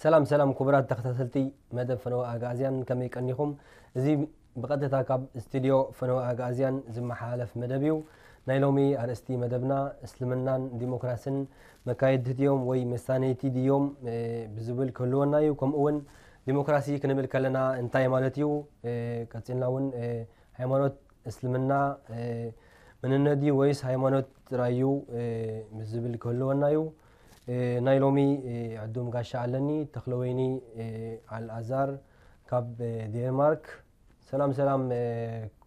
ሰላም ሰላም ክቡራት ተኸታተልቲ መደብ ፈነወ ኣግኣዝያን፣ ከመይ ቀኒኹም? እዚ ብቐጥታ ካብ ስቱድዮ ፈነወ ኣግኣዝያን ዝመሓላለፍ መደብ እዩ። ናይ ሎሚ ኣርእስቲ መደብና እስልምናን ዲሞክራስን መካየድቲ ድዮም ወይ መሳነይቲ ድዮም፣ እ፣ ብዝብል ክህልወና እዩ። ከምኡ እውን ዲሞክራሲ ክንብል ከለና እንታይ ማለት እዩ? እ፣ ቀጺልና እውን፣ እ፣ ሃይማኖት እስልምና፣ እ፣ መንነት ድዩ ወይስ ሃይማኖት ጥራይ እዩ? እ፣ ብዝብል ክህልወና እዩ። እ፣ ናይ ሎሚ፣ እ፣ ዕዱም ጋሻ ኣለኒ፣ ተኽለወይኒ፣ እ፣ ኣልኣዛር ካብ፣ እ፣ ዴንማርክ። ሰላም ሰላም፣ እ፣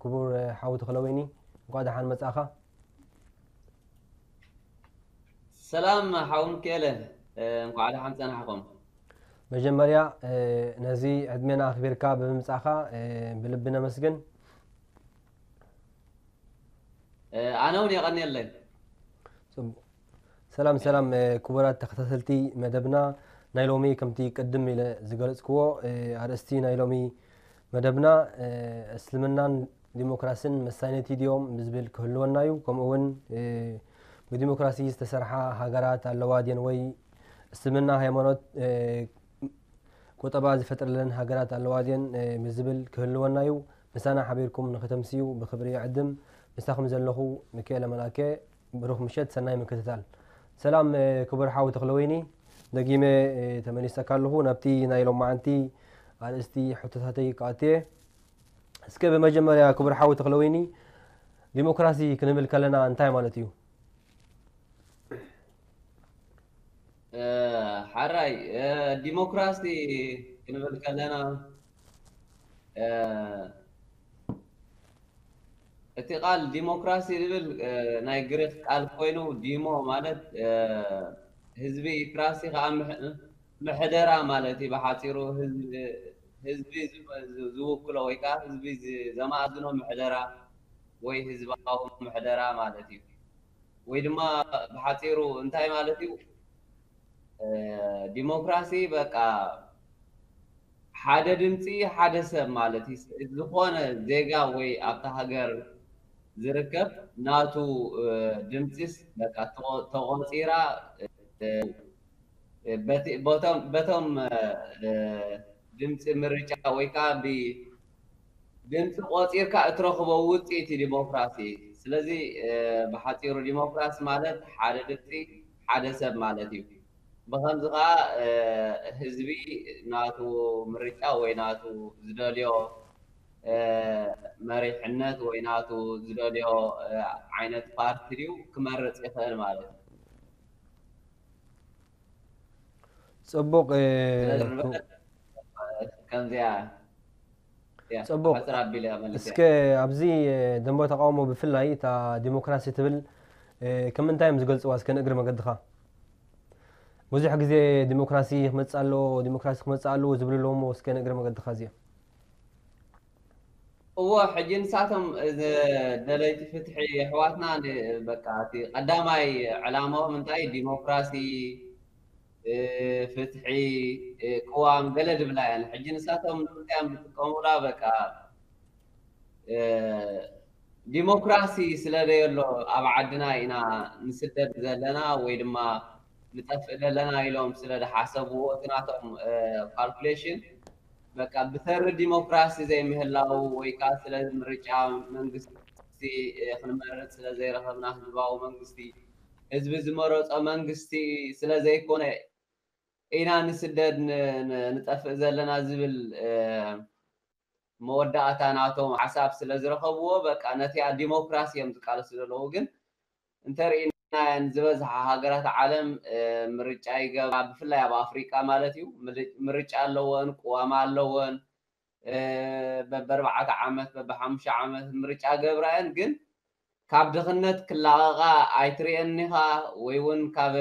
ክቡር፣ እ፣ ሓው ተኽለወይኒ፣ እንኳዕ ደሓን መጻእኻ። ሰላም ሓው ሚካኤለ፣ እ፣ እንኳዕ ደሓን ጸናሕኩም። መጀመርያ፣ እ፣ ነዚ ዕድሜና ኣኽቢርካ ብምምጻእኻ፣ እ፣ ብልቢ ነመስግን። እ፣ ኣነ እውን የቐንየለይ። ጽቡቕ። ሰላም ሰላም፣ እ፣ ክቡራት ተኸታተልቲ መደብና፣ ናይ ሎሚ ከምቲ ቅድም ኢለ ዝገለጽክዎ፣ እ፣ ኣርእስቲ ናይ ሎሚ መደብና፣ እ፣ እስልምናን ዲሞክራስን መሳነይቲ ድዮም ብዝብል ክህልወና እዩ። ከምኡ እውን፣ እ፣ ብዲሞክራሲ ዝተሰርሓ ሃገራት ኣለዋ ድየን ወይ እስልምና ሃይማኖት፣ እ፣ ቁጠባ ዝፈጥረለን ሃገራት ኣለዋ ድየን፣ እ፣ ብዝብል ክህልወና እዩ። ምሳና ሓቢርኩም ንክተምስዩ ብክብሪ ይዕድም። ምሳኹም ዘለኹ ሚካኤለ መልኣከ። ብሩኽ ምሸት፣ ሰናይ ምክትታል። ሰላም፣ እ፣ ክቡር ሓው ተኽለወይኒ፣ ደጊመ፣ እ፣ ተመሊሰካ ኣለኹ። ናብቲ ናይ ሎማዓንቲ ኣርእስቲ ሕቶታተይ ክኣቱ እየ። እስከ ብመጀመርያ ክቡር ሓው ተኽለወይኒ፣ ዲሞክራሲ ክንብል ከለና እንታይ ማለት እዩ? እ፣ ሓራይ፣ እ፣ ዲሞክራሲ ክንብል ከለና፣ እ፣ እቲ ቃል ዲሞክራሲ ዝብል፣ እ፣ ናይ ግሪክ ቃል ኮይኑ፣ ዲሞ ማለት፣ እ፣ ህዝቢ፣ ክራሲ ከዓ ምሕ-፣ ምሕደራ ማለት እዩ። ብሓፂሩ ህዝቢ፣ ህዝቢ ዝ-፣ ዝ-፣ ዝውክሎ ወይ ከዓ ህዝቢ ዝ-፣ ዘማእዝኖ ምሕደራ ወይ ህዝባዊ ምሕደራ ማለት እዩ። ወይ ድማ ብሓፂሩ እንታይ ማለት እዩ? እ፣ ዲሞክራሲ በቃ ሓደ ድምፂ ሓደ ሰብ ማለት እዩ። ዝኾነ ዜጋ ወይ ኣብታ ሃገር ዝርከብ ናቱ፣ እ፣ ድምፂስ በቃ ተቆ-፣ ተቆፂራ፣ እ፣ በቲ-፣ በቶም፣ በቶም፣ እ፣ ድምፂ ምርጫ ወይ ከዓ ብ-፣ ድምፂ ቆፂርካ እትረኽቦ ውፅኢት እዩ ዲሞክራሲ። ስለዚ፣ እ፣ ብሓፂሩ ዲሞክራሲ ማለት ሓደ ድምፂ ሓደ ሰብ ማለት እዩ። ብኸምዚ ከዓ፣ እ፣ ህዝቢ ናቱ ምርጫ ወይ ናቱ ዝደልዮ፣ እ፣ መሪሕነት ወይ ናቱ ዝደልዮ፣ እ፣ ዓይነት ፓርቲ ድዩ ክመርፅ ይኽእል ማለት እዩ። ጽቡቕ፣ እ፣ ስለዚ ክቡ-፣ ንብረት ከምዚኣ እያ። ጽቡቕ። ሕጽር ኣቢለ እያ መሊሰ። እስከ ኣብዚ፣ እ፣ ደንበ ተቃውሞ ብፍላይ እታ ዲሞክራሲ ትብል፣ እ፣ ከም እንታይ እዮም ዝገልጽዋ? እስከ ንእግሪ መገድኻ። ብዙሕ ግዜ ዲሞክራሲ ክመጽእ ኣለዎ፣ ዲሞክራሲ ክመጽእ ኣለዎ ዝብሉ ኣለዉ እሞ፣ እስከ ንእግሪ መገድኻ እዚኣ። እዎ፣ ሕጂ ንሳቶም፣ እ፣ ደለይቲ ፍትሒ ኣሕዋትና ን-፣ በቃ እቲ ቀዳማይ ዕላማኦም እንታይ ዲሞክራሲ፣ እ፣ ፍትሒ፣ እ፣ ቅዋም ገለ ድብላ እየን። ሕጂ ንሳቶም ንምንታይ እዮም ዝጥቀሙላ? በቃ፣ እ፣ ዲሞክራሲ ስለ ዘየሎ ኣብ ዓድና ኢና ንስደድ ዘለና ወይ ድማ ንጠፍእ ዘለና ኢሎም ስለ ዝሓሰብዎ እቲ ናቶም፣ እ፣ ካልኩሌሽን በቃ ብተሪ ዲሞክራሲ ዘይምህላው ወይ ከዓ ስለ ምርጫ መንግስቲ፣ እ፣ ክንመርጥ ስለ ዘይረኸብና ህዝባዊ መንግስቲ፣ ህዝቢ ዝመረጾ መንግስቲ ስለ ዘይኮነ ኢና ንስደድ ን-፣ ን-፣ ንጠፍእ ዘለና ዝብል፣ እ፣ መወዳእታ ናቶም ሓሳብ ስለ ዝረኸብዎ በቃ ነቲኣ ዲሞክራሲ እዮም ዝቃለሱ ዘለዉ። ግን እንተርኢናየን ዝበዝሓ ሃገራት ዓለም፣ እ፣ ምርጫ ይገብራ፣ ብፍላይ ኣብ ኣፍሪቃ ማለት እዩ። ምር-፣ ምርጫ ኣለወን፣ ቅዋም ኣለወን፣ እ፣ በብኣርባዕተ ዓመት፣ በብሓሙሽተ ዓመት ምርጫ ገብራየን። ግን ካብ ድኽነት ክላቐቓ ኣይትርእየን ኢኻ፣ ወይ እውን ካብ፣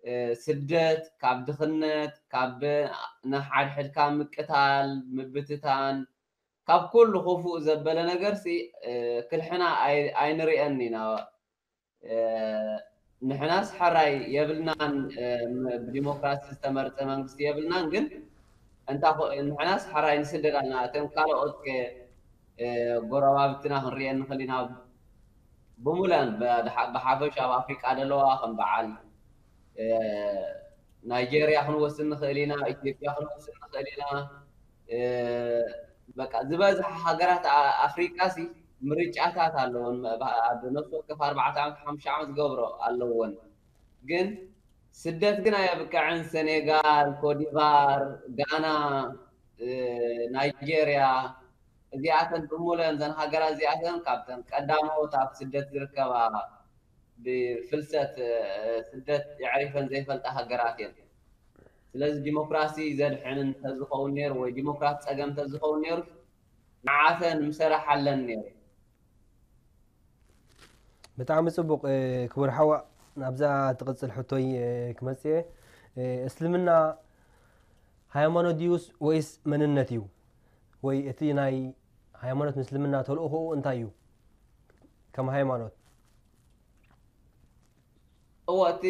እ፣ ስደት፣ ካብ ድኽነት፣ ካብ ንሓድሕድካ ምቅታል፣ ምብትታን፣ ካብ ኩሉ ክፉእ ዘበለ ነገርሲ፣ እ፣ ክልሕና ኣይ-፣ ኣይንርእየን ኢና። እ፣ ንሕናስ ሕራይ የብልናን፣ እ፣ ም-፣ ብዲሞክራሲ ዝተመርጸ መንግስቲ የብልናን፣ ግን እንታ ኮ-፣ ንሕናስ ሕራይ ንስደድ ኣለና። እተን ካልኦት ከ፣ እ፣ ጎረባብትና ክንርእየን ንኽእል ኢና። ብሙለን ብ-፣ ብሓ-፣ ብሓፈሻ ኣብ ኣፍሪቃ ዘለዋ ከም በዓል፣ እ፣ ናይጄርያ ክንወስድ ንኽእል ኢና፣ ኢትዮጵያ ክንወስድ ንኽእል ኢና። በቃ ዝበዝሐ ሃገራት ኣፍሪቃ ሲ ምርጫታት ኣለዎን፣ ኣብ ነፍሲ ወከፍ ኣርባዕተ ዓመት ሓሙሽተ ዓመት ዝገብሮ ኣለዎን። ግን ስደት ግን ኣየብቅዐን። ሴኔጋል፣ ኮትዲቫር፣ ጋና፣ ናይጄርያ፣ እዚኣተን ብምሉአን እዘን ሃገራት እዚኣተን ካብተን ቀዳሞት ኣብ ስደት ዝርከባ፣ ብፍልሰት ስደት የዕሪፈን ዘይፈልጣ ሃገራት እየን። ስለዚ ዲሞክራሲ ዘድሕን እንተዝኸውን ነይሩ ወይ ዲሞክራሲ ፀገም እንተዝኸውን ነይሩ ንዓተን ምሰራሓለን ነይሩ። ብጣዕሚ ፅቡቕ ክቡር ሓዋ። ናብዛ ትቕፅል ሕቶይ ክመፅእ እየ። እስልምና ሃይማኖት ድዩስ ወይስ መንነት እዩ? ወይ እቲ ናይ ሃይማኖት ምስልምና ተልእኾኡ እንታይ እዩ? ከም ሃይማኖት እዎ፣ እቲ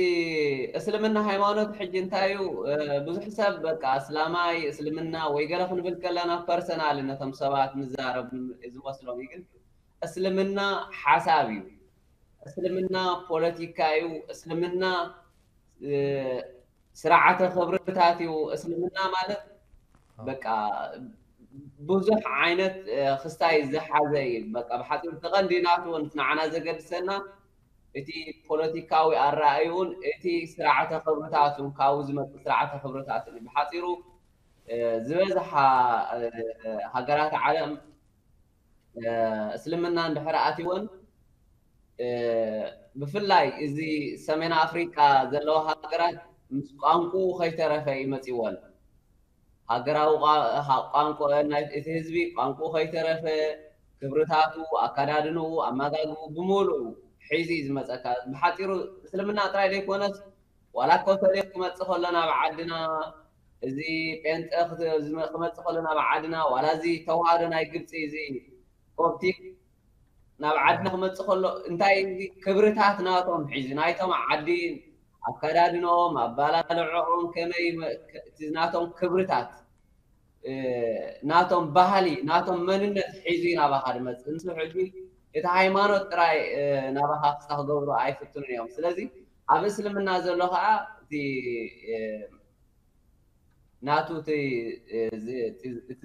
እስልምና ሃይማኖት ሕጂ እንታይ እዩ? ብዙሕ ሰብ በቃ እስላማይ፣ እስልምና ወይ ገለ ክንብል ከለና ፐርሰናል ነቶም ሰባት ንዛረብ ዝመስሎም እዩ። ግን እስልምና ሓሳብ እዩ። እስልምና ፖለቲካ እዩ። እስልምና ስርዓተ ክብርታት እዩ። እስልምና ማለት በቃ ብዙሕ ዓይነት ክስታይ ዝሓዘ እዩ። በቃ ብሓፂሩ እቲ ቀንዲ ናቱ ንዓና ዘገድሰና እቲ ፖለቲካዊ ኣረኣእዩን እቲ ስርዓተ ክብርታቱን ካብኡ ዝመፅእ ስርዓተ ክብርታትን እዩ። ብሓፂሩ ዝበዝሓ ሃገራት ዓለም እስልምና እንድሕር ኣትወን ብፍላይ እዚ ሰሜን ኣፍሪቃ ዘለዎ ሃገራት ምስ ቋንቁኡ ከይተረፈ እዩ መፂወን። ሃገራዊ ቋንቁ እቲ ህዝቢ ቋንቁ ከይተረፈ ክብርታቱ፣ ኣካዳድንኡ፣ ኣመጋግቡ ብምሉኡ ሒዙ እዩ ዝመፀካ። ብሓፂሩ እስልምና ጥራይ ዘይኮነስ ዋላ ኮተሌ ክመፅእ ከሎ ናብ ዓድና፣ እዚ ጴንጠ ክመፅእ ከሎ ናብ ዓድና፣ ዋላ እዚ ተዋህዶ ናይ ግብፂ እዚ ኮፕቲክ ናብ ዓድና ክመፅእ ከሎ እንታይ ክብርታት ናቶም ሒዙ ናይቶም ዓዲ ኣከዳድኖም ኣባላልዖም ከመይ ናቶም ክብርታት ናቶም ባህሊ ናቶም መንነት ሒዙ ናባኻ ድመፅእ። ንሱ ሕጂ እቲ ሃይማኖት ጥራይ ናባኻ ክሳ ክገብሩ ኣይፍትኑን እዮም። ስለዚ ኣብ እስልምና ዘሎ ከዓ እቲ ናቱ እቲ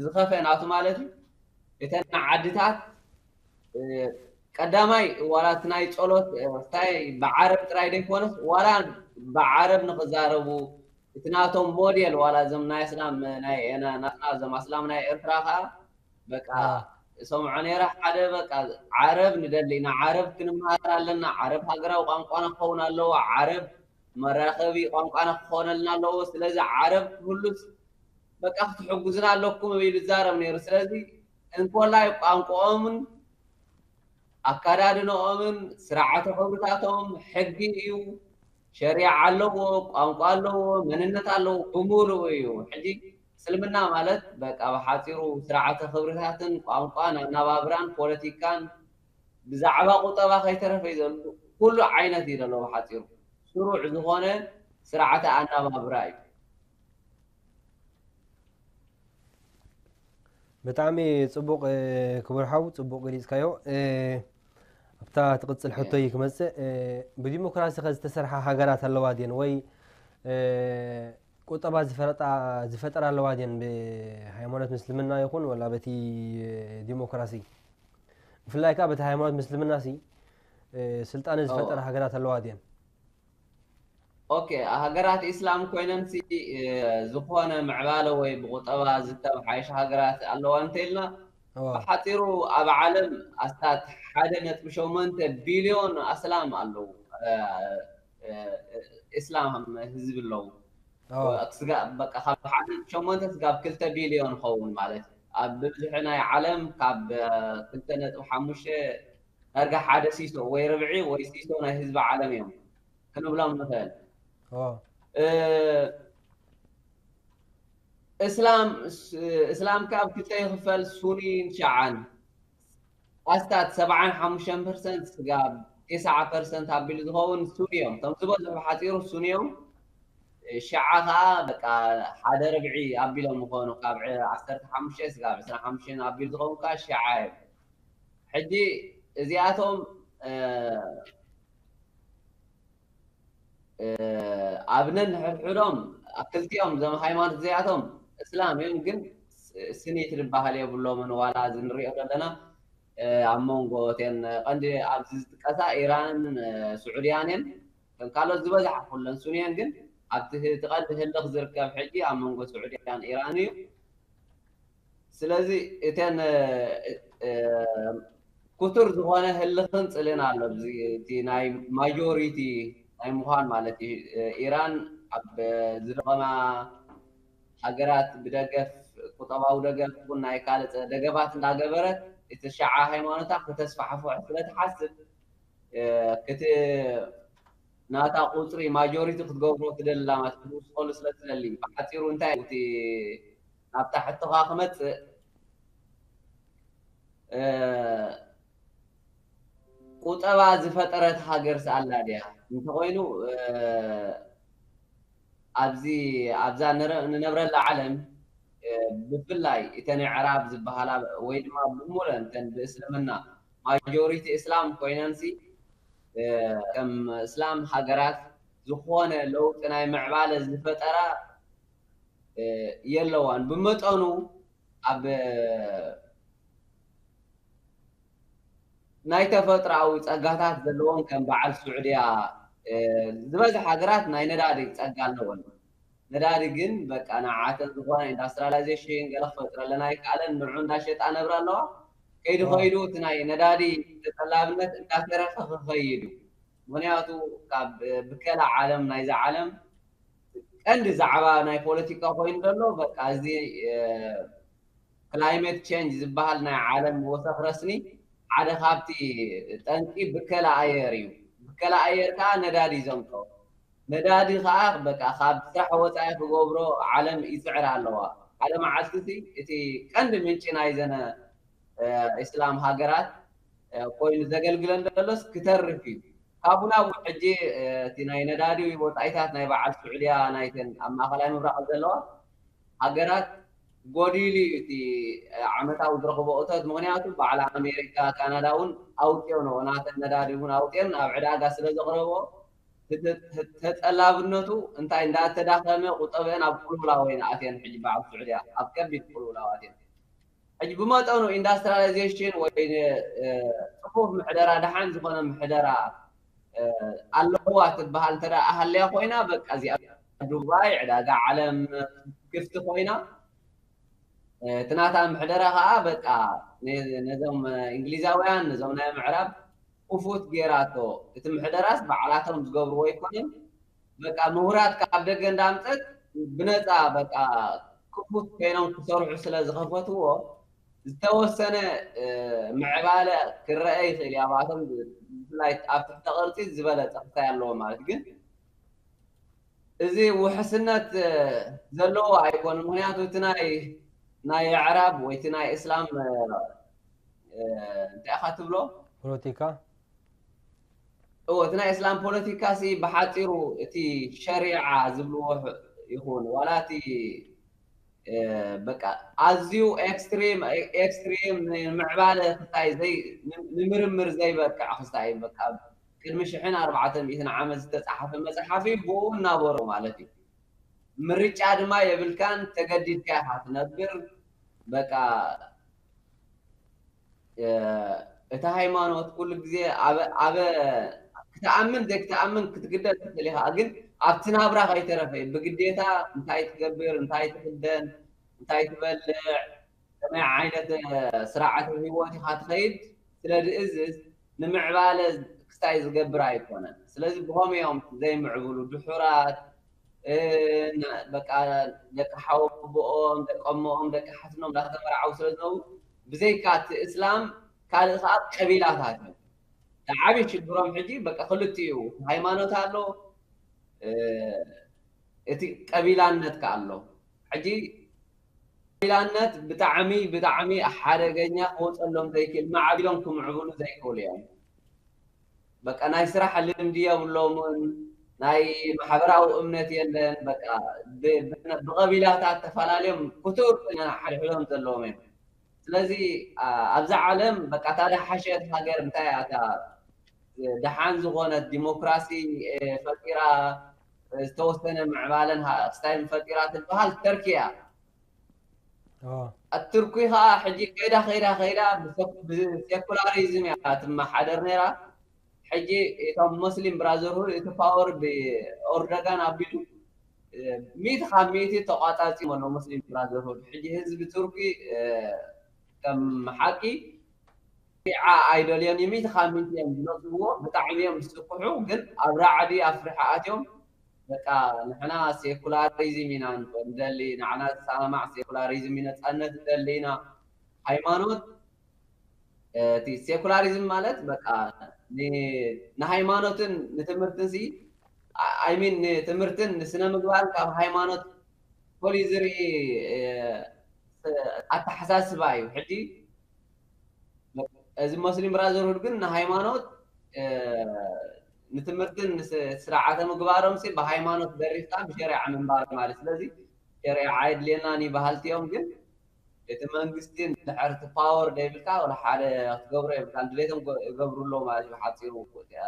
ዝኸፍአ ናቱ ማለት እዩ። እተን ዓድታት ቀዳማይ ዋላ እቲ ናይ ፀሎት እንታይ ብዓረብ ጥራይ ዘይኮነስ ዋላ ብዓረብ ንክዛረቡ እቲ ናቶም ሞዴል ዋላ እዞም ናይ ኣስላም ናይ ናትና እዞም ኣስላም ናይ ኤርትራ ከዓ በቃ እሰምዖ ነይረ ሓደ በቃ ዓረብ ንደሊ ኢና፣ ዓረብ ክንመሃር ኣለና፣ ዓረብ ሃገራዊ ቋንቋና ክኸውን ኣለዎ፣ ዓረብ መራኸቢ ቋንቋና ክኾነልና ኣለዎ። ስለዚ ዓረብ ክህሉስ በቃ ክትሕጉዝና ኣለኩም ኢሉ ይዛረብ ነይሩ። ስለዚ እንኮላይ ቋንቋኦምን ኣካዳድንኦምን ስርዓተ ክብርታቶም ሕጊ እዩ፣ ሸሪዓ ኣለዎ፣ ቋንቋ ኣለዎ፣ መንነት ኣለዎ፣ ብምሉኡ እዩ። ሕጂ እስልምና ማለት በቃ ብሓፂሩ ስርዓተ ክብርታትን ቋንቋን ኣናባብራን ፖለቲካን ብዛዕባ ቁጠባ ከይተረፈ እዩ ዘሎ። ኩሉ ዓይነት እዩ ዘሎ ብሓፂሩ ስሩዕ ዝኾነ ስርዓተ ኣናባብራ እዩ። ብጣዕሚ ፅቡቕ ክቡር ሓው፣ ፅቡቕ ገሊፅካዮ። ኣብታ ትቕፅል ሕቶይ ክመፅእ፣ ብዲሞክራሲ ከ ዝተሰርሓ ሃገራት ኣለዋ ድየን ወይ ቁጠባ ዝፈረጣ ዝፈጠራ ኣለዋ ድየን ብሃይማኖት ምስልምና ይኹን ወላ በቲ ዲሞክራሲ? ብፍላይ ከዓ በቲ ሃይማኖት ምስልምና ሲ ስልጣነ ዝፈጠራ ሃገራት ኣለዋ ድየን? ኦኬ፣ ሃገራት ኢስላም ኮይነን ሲ ዝኾነ ምዕባለ ወይ ብቁጠባ ዝተመሓየሸ ሃገራት ኣለዋ እንተኢልና ብሓፂሩ ኣብ ዓለም ኣስታት ሓደ ነጥቢ ሸሞንተ ቢልዮን ኣስላም ኣለዉ። ኢስላም ህዝቢ ኣለዉ። በቃ ካብ ሓደ ሸሞንተ ስጋብ ክልተ ቢልዮን ኸውን ማለት እዩ። ኣብ ብብዝሒ ናይ ዓለም ካብ ክልተ ነጥቢ ሓሙሽተ ዳርጋ ሓደ ሲሶ ወይ ርብዒ ወይ ሲሶ ናይ ህዝቢ ዓለም እዮም ክንብሎም ንኽእል። እስላም እስላም ካብ ክልተ ይኽፈል፣ ሱኒን ሸዓን። ኣስታት ሰብዓን ሓሙሽተን ፐርሰንት ስጋብ ተስዓ ፐርሰንት ኣቢሉ ዝኸውን ሱኒ እዮም። እቶም ዝበዝሑ ብሓፂሩ ሱኒ እዮም። ሸዓ ከዓ በቃ ሓደ ርብዒ ኣቢሎም ምኾኑ ካብ ዓሰርተ ሓሙሽተ ስጋብ ዕስራን ሓሙሽተን ኣቢሉ ዝኸውን ከዓ ሸዓ እዮም። ሕጂ እዚኣቶም ኣብ ነንሕድሕዶም ክልቲኦም እዞም ሃይማኖት እዚኣቶም እስላም እዮም፣ ግን ስኒት ዝበሃል የብሎምን። ዋላ እዚ ንሪኦ ዘለና ኣብ መንጎ እተን ቀንዲ ኣብዚ ዝጥቀሳ ኢራንን ስዑድያን እየን። ከም ካልኦት ዝበዝሓ ኩለን ሱን እየን፣ ግን ኣብቲ እቲ ቀንዲ ህልኽ ዝርከብ ሕጂ ኣብ መንጎ ስዑድያን ኢራን እዩ። ስለዚ እተን ክቱር ዝኾነ ህልኽን ጽልእን ኣሎ። እቲ ናይ ማጆሪቲ ናይ ምዃን ማለት እዩ። ኢራን ኣብ ዝደቐማ ሃገራት ብደገፍ፣ ቁጠባዊ ደገፍ ይኹን ናይ ካልእ ደገፋት እንዳገበረት እቲ ሸዓ ሃይማኖታ ከተስፋሕፍሖ ስለትሓስብ ክቲ ናታ ቁፅሪ ማጆሪቲ ክትገብሮ ትደሊ ላማት ክትውስኸሉ ስለ ትደሊ። ብሓፂሩ እንታይ እቲ ናብ ታሕትኻ ክመፅእ ቁጠባ ዝፈጠረት ሃገር ስኣላ ድያ እንተኮይኑ ኣብዚ ኣብዛ ንነብረላ ዓለም ብፍላይ እተን ኣዕራብ ዝበሃላ ወይ ድማ ብሙለን እተን ብእስልምና ማጆሪቲ እስላም ኮይነንሲ ከም እስላም ሃገራት ዝኾነ ለውጢ ናይ ምዕባለ ዝፈጠራ የለዋን። ብመጠኑ ኣብ ናይ ተፈጥሮኣዊ ጸጋታት ዘለዎን ከም በዓል ስዑድያ ዝበዝሕ ሃገራት ናይ ነዳዲ ጸጋ ኣለወን። ነዳዲ ግን በቃ ንዓተን ዝኾነ ኢንዳስትሪያላይዜሽን ገለ ክፈጥረለን ኣይከኣለን። ንዑ እንዳሸጣ ነብራ ኣለዋ። ከይዱ ከይዱ እቲ ናይ ነዳዲ ተጠላብነት እንዳተረፈ ክኸይድ እዩ። ምክንያቱ ካብ ብከላ ዓለም ናይዛ ዓለም ቀንዲ ዛዕባ ናይ ፖለቲካ ኮይኑ ዘሎ በቃ እዚ ክላይሜት ቼንጅ ዝበሃል ናይ ዓለም ወሰኽ ረስኒ ሓደ ካብቲ ጠንቂ ብከላ ኣየር እዩ። ብከላ ኣየር ከዓ ነዳዲ እዩ ዘምፅኦ። ነዳዲ ከዓ በቃ ካብ ስራሕ ወፃኢ ክገብሮ ዓለም ይፅዕር ኣለዋ። ሓደ መዓልቲ እቲ ቀንዲ ምንጪ ናይ ዘነ እስላም ሃገራት ኮይኑ ዘገልግለን ዘሎስ ክተርፍ እዩ። ካብኡ ናብ ሕጂ እቲ ናይ ነዳዲ ወፃኢታት ናይ በዓል ስዑድያ ናይተን ኣብ ማእኸላይ ምብራቕ ዘለዋ ሃገራት ጎዲሉ እዩ እቲ ዓመታዊ ዝረኽቦ እቶት። ምክንያቱ በዓል ኣሜሪካ፣ ካናዳ እውን ኣውፅኦ ነው ናተን ነዳዲ እውን ኣውፅኦን ኣብ ዕዳጋ ስለ ዘቕረቦ ተጠላብነቱ እንታይ እንዳተዳኸመ ቁጠበአን ኣብ ቁልውላው እየን ኣትየን። ሕጂ በዓል ስዑድያ ኣብ ከቢድ ቁልውላው ኣትየን። ሕጂ ብመጠኑ ኢንዳስትሪያላይዜሽን ወይ ፅፉፍ ምሕደራ ደሓን ዝኾነ ምሕደራ ኣለዋ ትበሃል እንተ ኣሃልያ ኮይና በቃ እዚኣ ዱባይ ዕዳጋ ዓለም ክፍቲ ኮይና እቲ ናታ ምሕደራ ከዓ በቃ ነዞም እንግሊዛውያን ነዞም ናይ ምዕራብ ክፉት ጌራቶ። እቲ ምሕደራስ ባዕላቶም ዝገብርዎ ኣይኮነን። በቃ ምሁራት ካብ ደገ እንዳምፀት ብነፃ በቃ ክፉት ኮይኖም ክሰርሑ ስለ ዝኸፈትዎ ዝተወሰነ ምዕባለ ክረአ ይኽእል እዩ። ኣብኣቶም ብፍላይ ኣብ ትሕተ ቅርፂ ዝበለፀ ክታይ ኣለዎ ማለት ግን እዚ ውሕስነት ዘለዎ ኣይኮነ። ምክንያቱ እቲ ናይ ናይ ኣዕራብ ወይ እቲ ናይ እስላም እንታይ ኢኻ ትብሎ ፖለቲካ እዎ እቲ ናይ እስላም ፖለቲካ ሲ ብሓፂሩ እቲ ሸሪዓ ዝብልዎ ይኹን ዋላ እቲ በቃ ኣዝዩ ኤክስትሪም ኤክስትሪም ንምዕባለ ክስታይ ዘይ ንምርምር ዘይበቅዕ ክስታይ በቃ ቅድሚ ሽሕን ኣርባዕተ ሚእትን ዓመት ዝተፃሓፈ መፅሓፍ እዩ። ብኡ እናበሮ ማለት እዩ። ምርጫ ድማ የብልካን፣ ተገዲድካ ኢኻ ትነብር። በቃ እቲ ሃይማኖት ኩሉ ግዜ ኣበ ኣበ ክትኣምን ዘይክትኣምን ክትግደድ ትኽእል ኢኻ፣ ግን ኣብቲ ናብራ ከይተረፈ እዩ ብግዴታ እንታይ ትገብር፣ እንታይ ትኽደን፣ እንታይ ትበልዕ፣ ከመይ ዓይነት ስርዓተ ህይወት ኢኻ ትኸይድ ስለ ዝእዝዝ ንምዕባለ ክስታይ ዝገብር ኣይኮነን። ስለዚ ብኸምኡ እዮም ዘይምዕብሉ ድሑራት በቃ ደቂ ሓወቦኦም ደቂ ኣሞኦም ደቂ ሓትኖም እንዳተመርዓው ስለ ዝነብሩ ብዘይካ እቲ እስላም ካልእ ከዓ ቀቢላታት እዮም። እቲ ዓብዪ ሽግሮም ሕጂ በቃ ክልቲኡ ሃይማኖት ኣሎ እቲ ቀቢላነት ከዓ ኣሎ። ሕጂ ቀቢላነት ብጣዕሚ ብጣዕሚ ሓደገኛ ክወፀሎም ዘይክእል ማዕቢሎም ክምዕብሉ ዘይክእሉ እዮም። በቃ ናይ ስራሕ ልምዲ የብሎምን፣ ናይ ማሕበራዊ እምነት የለን። በቃ ብቐቢላታት ተፈላለዮም ክቱር ኮይና ሓድሕዶም ዘለዎም እዮም። ስለዚ ኣብዚ ዓለም በቃ እታ ደሓሸት ሃገር እንታይ እያ? እታ ደሓን ዝኾነት ዲሞክራሲ ፈጢራ ዝተወሰነ ምዕባለን ክስታይን ፈጢራ ትበሃል ተርኪ እያ። ኣትርኩ ከዓ ሕጂ ከይዳ ከይዳ ከይዳ ብሰኩላሪዝም እያ ትመሓደር ነይራ። ሕጂ እቶም ሙስሊም ብራዘርሁድ እቲ ፓወር ብኦርደጋን ኣቢሉ ሚእቲ ካብ ሚእቲ ተቋፃፂ ኣሎ ሙስሊም ብራዘርሁድ። ሕጂ ህዝቢ ቱርኪ ከም ሓቂ ዓ ኣይደልዮን እዩ። ሚእቲ ካብ ሚእቲ እዮም ዝነፅግዎ። ብጣዕሚ እዮም ዝስክሑ። ግን ኣብ ራዕዲ ኣፍሪሓ ኣትዮም በቃ ንሕና ሴኩላሪዝም ኢና ንደሊ፣ ንዓና ዝሰማማዕ ሴኩላሪዝም እዩ፣ ነፃነት ንደሊ ኢና። ሃይማኖት እቲ ሴኩላሪዝም ማለት በቃ ንሃይማኖትን ንትምህርትን ሲ ኣይሚን ንትምህርትን ንስነ ምግባርን ካብ ሃይማኖት ፖሊ ዝርኢ ኣተሓሳስባ እዩ። ሕጂ እዚ ሙስሊም ብራዘርሁድ ግን ንሃይማኖት ንትምህርትን ስርዓተ ምግባሮም ሲ ብሃይማኖት ደሪፍካ ብሸሪዓ ምንባር ማለት። ስለዚ ሸሪዓ ኣይድልየናን እዩ በሃልቲ እዮም። ግን እቲ መንግስቲ እንድሕር እቲ ፓወር ደይብልካ ወላ ሓደ ክትገብሮ የብልካ። ድሌቶም ይገብሩ ኣለዉ ማለት እዩ። ሓፂሩ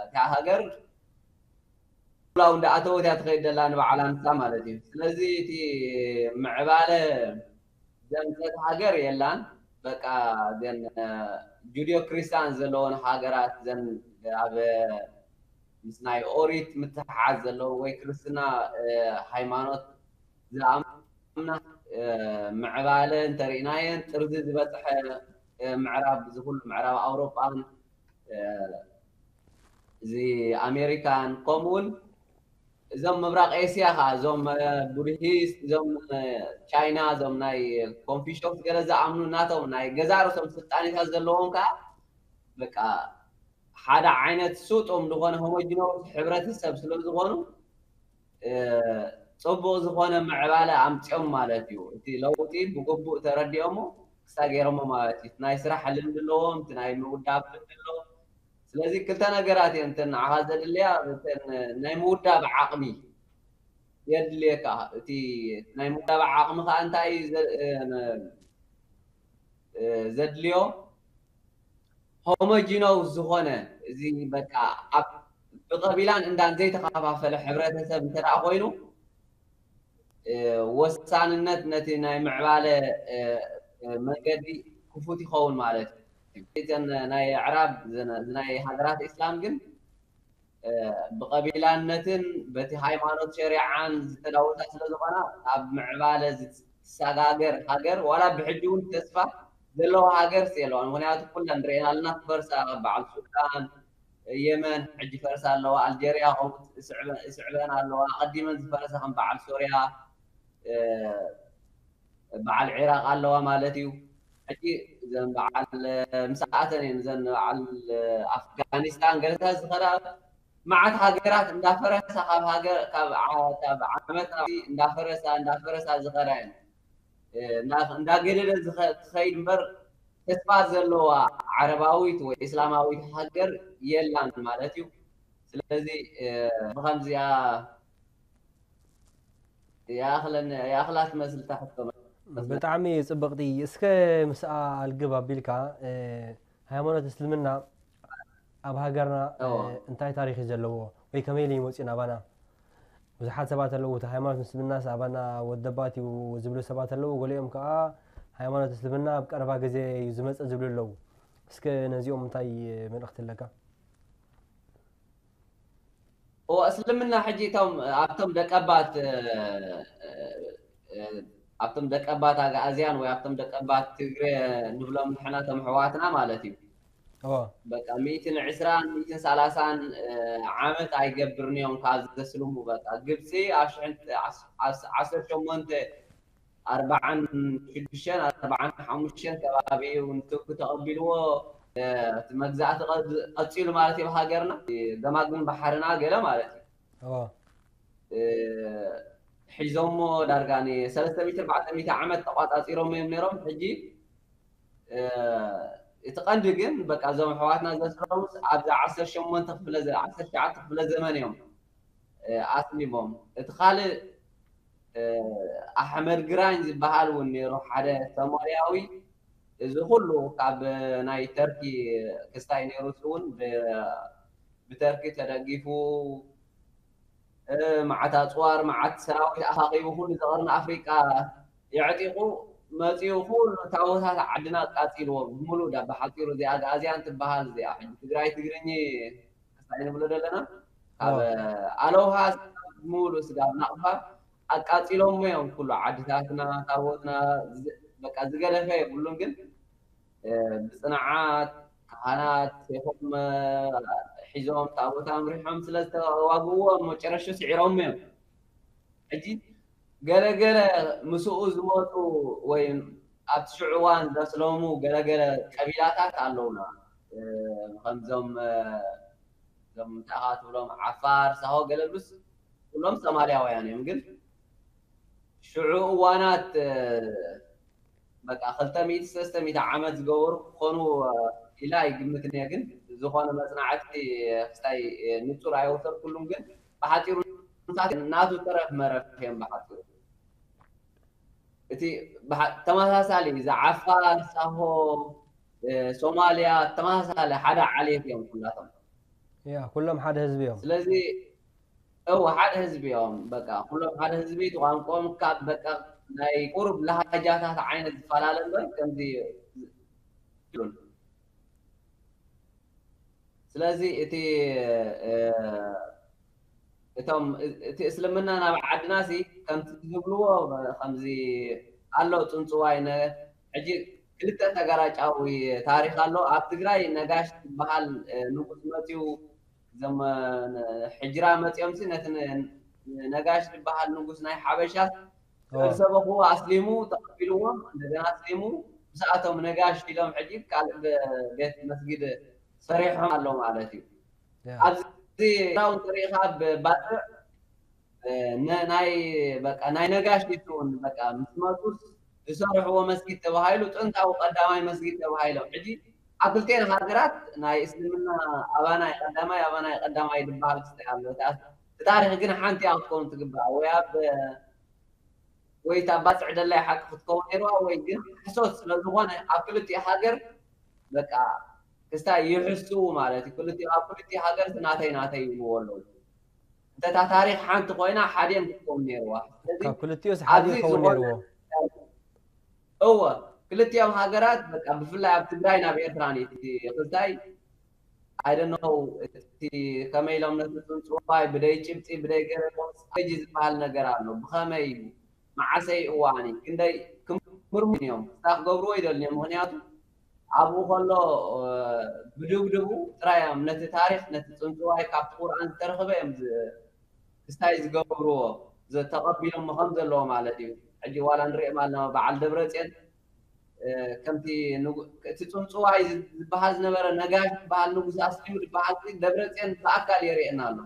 እታ ሃገር ላው እንዳ ኣተወት እያ ትኸይድ ደላ ንባዕላ ንሳ ማለት እዩ። ስለዚ እቲ ምዕባለ ዘምፀት ሃገር የላን። በቃ ዘን ጁዲዮ ክርስቲያን ዘለዎን ሃገራት ዘን ኣብ ምስ ናይ ኦሪት ምትሓዝ ዘለዎ ወይ ክርስትና ሃይማኖት ዝኣምና ምዕባለ እንተርኢናየን ጥርዚ ዝበፅሐ ምዕራብ ዝኩሉ ምዕራብ ኣውሮጳን እዚ ኣሜሪካን ከምኡውን እዞም ምብራቕ ኤስያ ከዓ እዞም ቡድሂስት እዞም ቻይና እዞም ናይ ኮንፊሽስ ገለ ዝኣምኑ ናቶም ናይ ገዛ ርእሶም ስልጣኔታት ዘለዎም ከዓ በቃ ሓደ ዓይነት ስጡም ዝኾነ ሆሞጂኖስ ሕብረተሰብ ስለ ዝኾኑ ፅቡቕ ዝኾነ ምዕባለ ኣምፅኦም ማለት እዩ። እቲ ለውጢ ብግቡእ ተረዲኦሞ ክሳ ገይሮሞ ማለት እዩ። ናይ ስራሕ ልምዲ ኣለዎም፣ እቲ ናይ ምውዳብ ልምዲ ኣለዎም። ስለዚ ክልተ ነገራት እየን እተን ንዓኻ ዘድልያ፣ እተን ናይ ምውዳብ ዓቕሚ የድልየካ። እቲ ናይ ምውዳብ ዓቕሚ ከዓ እንታይ ዘድልዮ ሆሞጂኖስ ዝኾነ እዚ በቃ ኣብ ብቐቢላን እንዳን ዘይተኸፋፈለ ሕብረተሰብ እንተ ደኣ ኮይኑ ወሳንነት ነቲ ናይ ምዕባለ መንገዲ ክፉት ይኸውን ማለት እዩ። እተን ናይ ኣዕራብ ናይ ሃገራት ኢስላም ግን ብቐቢላነትን በቲ ሃይማኖት ሸሪዓን ዝተዳወታ ስለ ዝኾና ኣብ ምዕባለ ዝሰጋገር ሃገር ዋላ ብሕጂ እውን ተስፋ ዘለዎ ሃገር የለዋን። ምክንያቱ ኩለን ርኤና ኣለና ክፈርሳ በዓል ሱዳን የመን ሕጂ ፈርሳ ኣለዋ። ኣልጀርያ ከምኡ ይስዕበን ኣለዋ። ኣቐዲመን ዝፈረሳ ከም በዓል ሶርያ በዓል ዒራቕ ኣለዋ ማለት እዩ። ሕጂ እዘን በዓል ምስኣተን እየን እዘን በዓል ኣፍጋኒስታን ገለታት ዝኸዳ መዓት ሃገራት እንዳፈረሳ ካብ ዓመት እንዳፈረሳ እንዳፈረሳ ዝኸዳ እየን። እንዳገደደ ትኸይድ እምበር ተስፋ ዘለዋ ዓረባዊት ወይ እስላማዊት ሃገር የላን ማለት እዩ። ስለዚ ብከምዚኣ ይኣኽላ ትመስል እታ ሕቶ። ብጣዕሚ ፅብቕቲ። እስከ ምስኣ ኣልግብ ኣቢልካ ሃይማኖት እስልምና ኣብ ሃገርና እንታይ ታሪክ እዩ ዘለዎ ወይ ከመይ ኢሉ ይመፅኡ ናባና? ብዙሓት ሰባት ኣለዉ እቲ ሃይማኖት ምስልምናስ ኣባና ወደባት እዩ ዝብሉ ሰባት ኣለዉ። ገሊኦም ከዓ ሃይማኖት እስልምና ኣብ ቀረባ ግዜ እዩ ዝመፅእ ዝብሉ ኣለዉ። እስከ ነዚኦም እንታይ መልእኽቲ ኣለካ? እዎ እስልምና ሕጂ እቶም ኣብቶም ደቀባት ኣብቶም ደቀባት ኣግኣዝያን ወይ ኣብቶም ደቀባት ትግረ ንብሎም ንሕና እቶም ኣሕዋትና ማለት እዩ። በቃ ሚእትን ዕስራን ሚእትን ሰላሳን ዓመት ኣይገብርን እዮም ካብ ዘስልሙ። በቃ ግብፂ ኣብ ሽሕን ዓሰርተ ሸሞንተ ኣርባዓን ሽዱሽተን ኣርባዓን ሓሙሽተን ከባቢ እውን ቱርኪ ተቐቢልዎ እቲ መግዛእቲ ቀፂሉ ማለት እዩ። ሃገርና ገማግም ባሕርና ገለ ማለት እዩ ሒዞሞ ዳርጋ ንሰለስተ ሚእቲ ኣርባዕተ ሚእቲ ዓመት ተቋፃፂሮም እዮም ነይሮም። ሕጂ እቲ ቀንዲ ግን በቃ እዞም ኣሕዋትና ዘስረሙስ ኣብዛ ዓሰርተ ሸሞንተ ክፍለ ዓሰርተ ትሽዓተ ክፍለ ዘመን እዮም ኣስሊሞም። እቲ ካልእ ኣሕመድ ግራኝ ዝበሃል እውን ነይሩ ሓደ ሶማልያዊ። እዚ ኩሉ ካብ ናይ ተርኪ ክስታይ ነይሩ እውን ብተርኪ ተደጊፉ እ፣ መዓት ኣፅዋር፣ መዓት ሰራዊት ኣኻኺቡ ኩሉ ዘቐርኒ ኣፍሪቃ የዕጢቑ መፂኡ ኩሉ ታቦታት ዓድና ኣቃፂልዎ ብምሉእ። ዳ ብሓፂሩ እዚኣ ኣግኣዝያን ትበሃል እዚኣ ሕጂ ትግራይ ትግርኝ ክስታይ ንብሎ ዘለና ካብ ኣለውሃ ብምሉእ ስጋብ ናቕፋ ኣቃፂሎሞ እዮም። ኩሉ ዓድታትና ታቦትና ዝ- በቃ ዝገደፈ የብሉን። ግን እ፣ ብፅንዓት ካህናት ሴፎም እ፣ ሒዞም ታቦት ኣምሪሖም ስለ ዝተዋግእዎ ኣብ መጨረሹ ስዒሮም እዮም። ሕጂ ገለገለ ምስኡ ዝመፁ ወይ ኣብቲ ሽዑ እዋን ዘስለሙ ገለገለ ቀቢላታት ኣለውና። እ፣ ከምዞም እ፣ እዞም እንታይ ኢኻ ትብሎም ዓፋር፣ ሳሆ፣ ገለብሉስ ኩሎም ሶማልያውያን እዮም። ግን ሽዑ እዋናት እ፣ በቃ ክልተ ሚእቲ ሰለስተ ሚእቲ ዓመት ዝገበሩ ክኾኑ ኢላ ይግምት እየ። ግን ዝኾነ መፅናዕቲ ክስታይ ንፁር ኣይወሰድኩሉን። ግን ብሓፂሩ ናቱ ተረፍ መረፍ እዮም። ብሓፂሩ እቲ ብሓ- ተመሳሳሊ እዚ ዓፋር፣ ሳሆ፣ ሶማልያ ተመሳሳሊ ሓደ ዓሌት እዮም ኩላቶም። ያ ኩሎም ሓደ ህዝቢ እዮም። ስለዚ እው ሓደ ህዝቢ እዮም። በቃ ኩሎም ሓደ ህዝቢ፣ እቲ ቋንቋኦም ካብ በቃ ናይ ቁሩብ ላሃጃታት ዓይነት ዝፈላለ እምበር ከምዚ ይብሉን። ስለዚ እቲ እ፣ እቶም እቲ እስልምና ናብ ዓድና ሲ ከምቲ ዝብልዎ ከምዚ ኣሎ ፅንፅዋይ ነ ሕጂ ክልተ ተጋራጫዊ ታሪክ ኣሎ። ኣብ ትግራይ ነጋሽ ዝበሃል እ፣ ንጉስ መፅዩ እዞም እ፣ ሕጅራ መፅዮም ሲ ነቲ ን- ነጋሽ ዝበሃል ንጉስ ናይ ሓበሻ ዝሰበኽዎ ኣስሊሙ ተቐቢልዎም እንደገና ኣስሊሙ ምስኣቶም ነጋሽ ኢሎም ሕጂ ካልእ ብ- ቤት መስጊድ ሰሪሖም ኣሎ ማለት እዩ። ኣብዚ ራውን ተሪኢኻ ብባፅዕ እ፣ ነ- ናይ በቃ ናይ ነጋሽ ይትውን በቃ ምስ መፁስ ዝሰርሕዎ መስጊድ ተባሂሉ ጥንታዊ ቀዳማይ መስጊድ ተባሂሎም። ሕጂ ኣብ ክልቴን ሃገራት ናይ እስልምና ኣባናይ ቀዳማይ ኣባናይ ቀዳማይ ዝበሃል ክስታይ ኣሎ። እቲ ኣስ- እቲ ታሪክ ግን ሓንቲ እያ ክትከውን ትግባእ። ወይ ኣብ ወይ እታ ባፅዕ ደላይ ሓቂ ክትከውን ነይርዋ ወይ ግን ሕሶት ስለዝኾነ ኣብ ክልቲኡ ሃገር በቃ ክስታይ ይሕስው ማለት እዩ። ክልቲኡ ኣብ ክልቲኡ ሃገር እቲ ናተይ ናተይ ይብልዎ ኣለዉ። እንተ እታ ታሪክ ሓንቲ ኮይና ሓዲኦም ክትከውን ነይርዋ። ስለዚ ካብ ክልቲኡስ ሓደ ኣብዚ ይኸውን ዝኾነ ነይርዎ። እወ ክልቲኦም ሃገራት በቃ ብፍላይ ኣብ ትግራይ ናብ ኤርትራ ኒ ክስታይ ኣይደነው እቲ ከመይ ኢሎም ነቲ ፅንፅዋይ ብደይ ጭብጢ ብደይ ገለ ጂ ዝበሃል ነገር ኣሎ። ብኸመይ እዩ መዓሰይ እዋኒ ክንደይ ክምርሙ እዮም ክስታ ክገብርዎ ይደልንዮም። ምክንያቱ ኣብኡ ከሎ እ፣ ብድብድቡ ጥራይ እዮም ነቲ ታሪክ ነቲ ፅንፅዋይ ካብቲ ቁርኣን ዝተረኽበ እዮም ዝ- ክስታይ ዝገብርዎ ዘ- ተቐቢሎሞ ከም ዘለዎ ማለት እዩ። ሕጂ ዋላ ንሪኦም ኣለና በዓል ደብረፅዮን እ፣ ከምቲ ንጉ- እቲ ፅንፅዋይ ዝ- ዝበሃል ዝነበረ ነጋሽ ዝበሃል ንጉስ ኣስሊሙ ዝበሃል ሲ ደብረፅዮን ብኣካል የርእየና ኣሎ።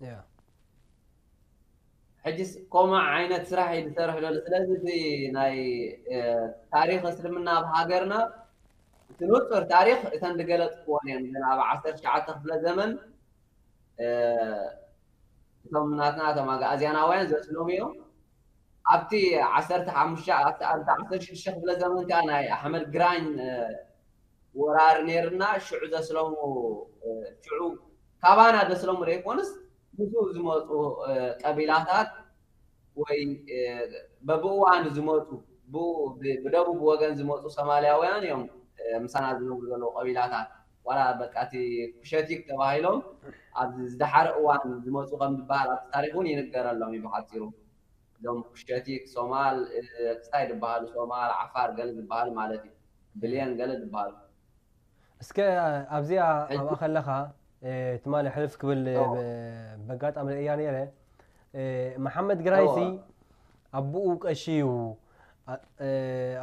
ያ ሕጂስ ኮማ ዓይነት ስራሕ እዩ ዝሰርሕ ዘሎ። ስለዚ እቲ ናይ እ፣ ታሪክ እስልምና ኣብ ሃገርና እቲ ንፁር ታሪክ እተን ዝገለፅክወን እየን። ግን ኣብ ዓሰርተ ትሽዓተ ክፍለ ዘመን እ፣ እቶም ናትና እቶም ኣግኣዝያናውያን ዘስሎም እዮም። ኣብቲ ዓሰርተ ሓሙሽተ ኣብቲ ኣብቲ ዓሰርተ ሽዱሽተ ክፍለ ዘመን ከዓ ናይ ኣሕመድ ግራኝ እ፣ ወራር ነይርና ሽዑ ዘስለሙ እ፣ ሽዑ ካባና ዘስለሙ ዘይኮኑስ ምስኡ ዝመፁ እ፣ ቀቢላታት ወይ እ፣ በብእዋኑ ዝመፁ ብኡ ብ- ብደቡብ ወገን ዝመፁ ሶማልያውያን እዮም እ፣ ምሳና ዝነብሩ ዘለዉ ቀቢላታት ዋላ በቃ እቲ ኩሸቲክ ተባሂሎም ኣብዚ ዝደሓረ እዋን ዝመፁ ከም ዝበሃል ኣብቲ ታሪክ እውን ይንገረሎም እዩ ብሓፂሩ። እዞም ኩሸቲክ ሶማል እ፣ ክስታይ ዝበሃሉ ሶማል ዓፋር ገለ ዝበሃሉ ማለት እዩ ብልየን ገለ ዝበሃሉ እስከ ኣብዚኣ ኣብኣ ከለኻ እ፣ ትማሊ ሕልፍ ክብል እ፣ በጋጣሚ ርእያ ነይረ እ፣ መሓመድ ግራይሲ ኣቦኡ ቀሺ እዩ ኣ- እ፣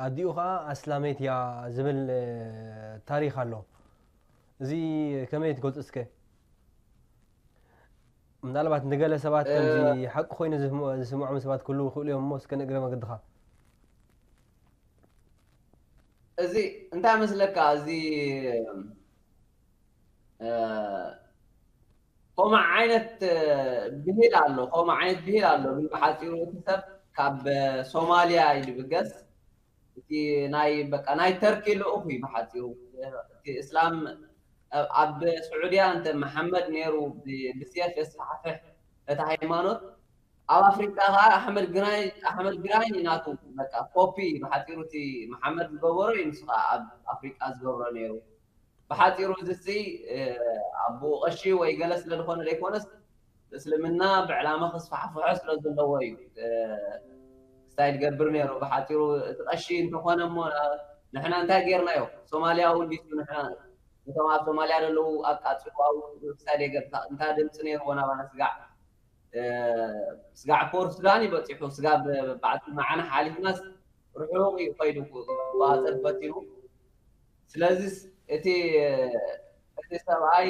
ኣዲኡ ከዓ ኣስላመይት እያ ዝብል እ፣ ታሪክ ኣሎ። እዚ ከመይ ትገልፁ እስከ? ምናልባት ንገለ ሰባት ከምዚ ሓቂ ኮይኑ ዝስምዖ- ዝስምዖም ሰባት ክህልዉ ይኽእሉ እዮም እሞ እስከ ንእግረ መገድኻ እዚ እንታይ መስለካ እዚ እ፣ ከምኡ ዓይነት እ፣ ብሂል ኣሎ ከምኡ ዓይነት ብሂል ኣሎ ግን ብሓፂሩ እቲ ሰብ ካብ እ፣ ሶማልያ እዩ ዝብገስ እቲ ናይ በቃ ናይ ተርኪ ልኡኽ እዩ ብሓፂሩ እቲ እስላም ኣብ- ኣብ ስዑድያ እንተ መሓመድ ነይሩ ብ- ብስየፍ የስፋሕፍሕ እቲ ሃይማኖት። ኣብ ኣፍሪቃ ከዓ ኣሕመድ ግራኝ ኣሕመድ ግራኝ ናቱ በቃ ኮፒ እዩ። ብሓፂሩ እቲ መሓመድ ዝገበሮ እዩ ንሱ ከዓ ኣብ ኣፍሪቃ ዝገብሮ ነይሩ። ብሓፂሩ እዚ ሲ ኣቦኡ ቀሺ ወይ ገለ ስለ ዝኾነ ዘይኮነስ እስልምና ብዕላማ ክስፋሕፍሖ ስለ ዘለዎ እዩ። ስታይ ዝገብር ነይሩ። ብሓፂሩ እቲ ቀሺ እንተኾነ እሞ ንሕና እንታይ ጌርናዮ? ሶማልያ እውን ዲሱ ንሕና እቶም ኣብ ሶማልያ ዘለዉ ኣቃፅሉ ኣብ ስታይ ገብታ እንታይ ድምፂ ነይርዎ ናባና ስጋዕ ስጋዕ ፖር ሱዳን እዩ በፂሑ። ስጋብ በዓል መዓና ሓሊፍናስ ርሑቕ እዩ ከይዱ ክቆፃፀር ፈቲኑ። ስለዚ እቲ እቲ ሰብኣይ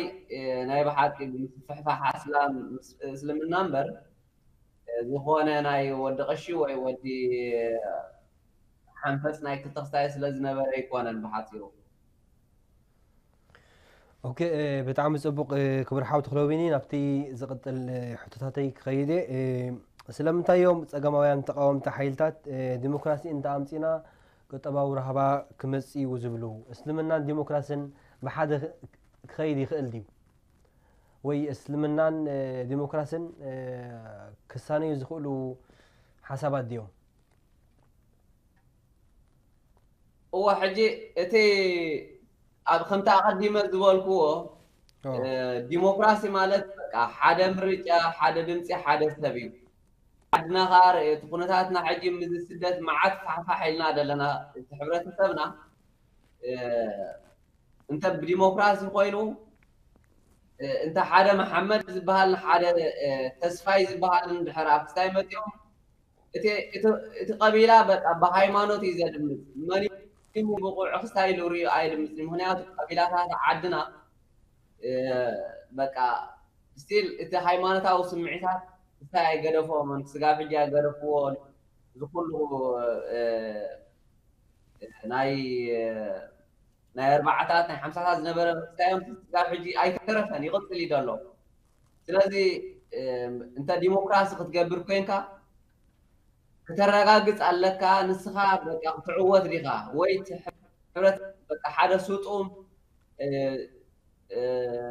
ናይ ብሓቂ ምስፍሕፋሕ ኣስላም እስልምና እምበር ዝኾነ ናይ ወዲ ቀሺ ወይ ወዲ ሓንፈፅ ናይ ክልተ ክስታይ ስለ ዝነበረ ኣይኮነን ብሓፂሩ። ኦኬ፣ ብጣዕሚ ፅቡቕ ክቡር ሓው ተኽለወይኒ። ናብቲ ዝቕፅል ሕቶታተይ ክኸይድ እየ። ስለምንታይ እዮም ፀገማውያን ተቃወምቲ ሓይልታት ዲሞክራሲ እንተኣምፂና ቁጠባዊ ራህባ ክመፅእ እዩ ዝብሉ? እስልምናን ዲሞክራስን ብሓደ ክኸይድ ይኽእል ድዩ? ወይ እስልምናን ዲሞክራስን ክሳነዩ ዝኽእሉ ሓሳባት ድዮም? እወ፣ ሕጂ እቲ ኣብ ከምቲ ኣቐዲመ ዝበልክዎ ዲሞክራሲ ማለት በቃ ሓደ ምርጫ፣ ሓደ ድምፂ፣ ሓደ ሰብ እዩ። ዓድና ከዓ ርእ እቲ ኩነታትና ሕጂ ምዚ ስደት መዓት ፋሕፋሕ ኢልና ዘለና እቲ ሕብረተሰብና እንተ ብዲሞክራሲ ኮይኑ እንተ ሓደ መሓመድ ዝበሃል ሓደ ተስፋይ ዝበሃል እንድሕር ኣብ ክስታይ መፂኦም እቲ ቀቢላ በቃ ብሃይማኖት እዩ ዘድምፅ። መን ብቑዕ ክስታይ ኢሉ ሪኡ ኣይድምፅን። ምክንያቱ ቀቢላታት ዓድና በቃ ስቲል እቲ ሃይማኖታዊ ስምዒታት ክስታይ ኣይገደፎምን። ስጋብ ሕጂ ኣይገደፍዎ። ዝኩሉ ናይ ናይ ኣርባዓታት ናይ ሓምሳታት ዝነበረ ክስታዮም ስጋብ ሕጂ ኣይተረፈን፣ ይቕፅል እዩ ዘሎ። ስለዚ እንተ ዲሞክራሲ ክትገብር ኮንካ ክተረጋግፅ ኣለካ። ንስኻ በቃ ክትዕወት ዲኻ ወይ እቲ ሕብረት በቃ ሓደ ስጡም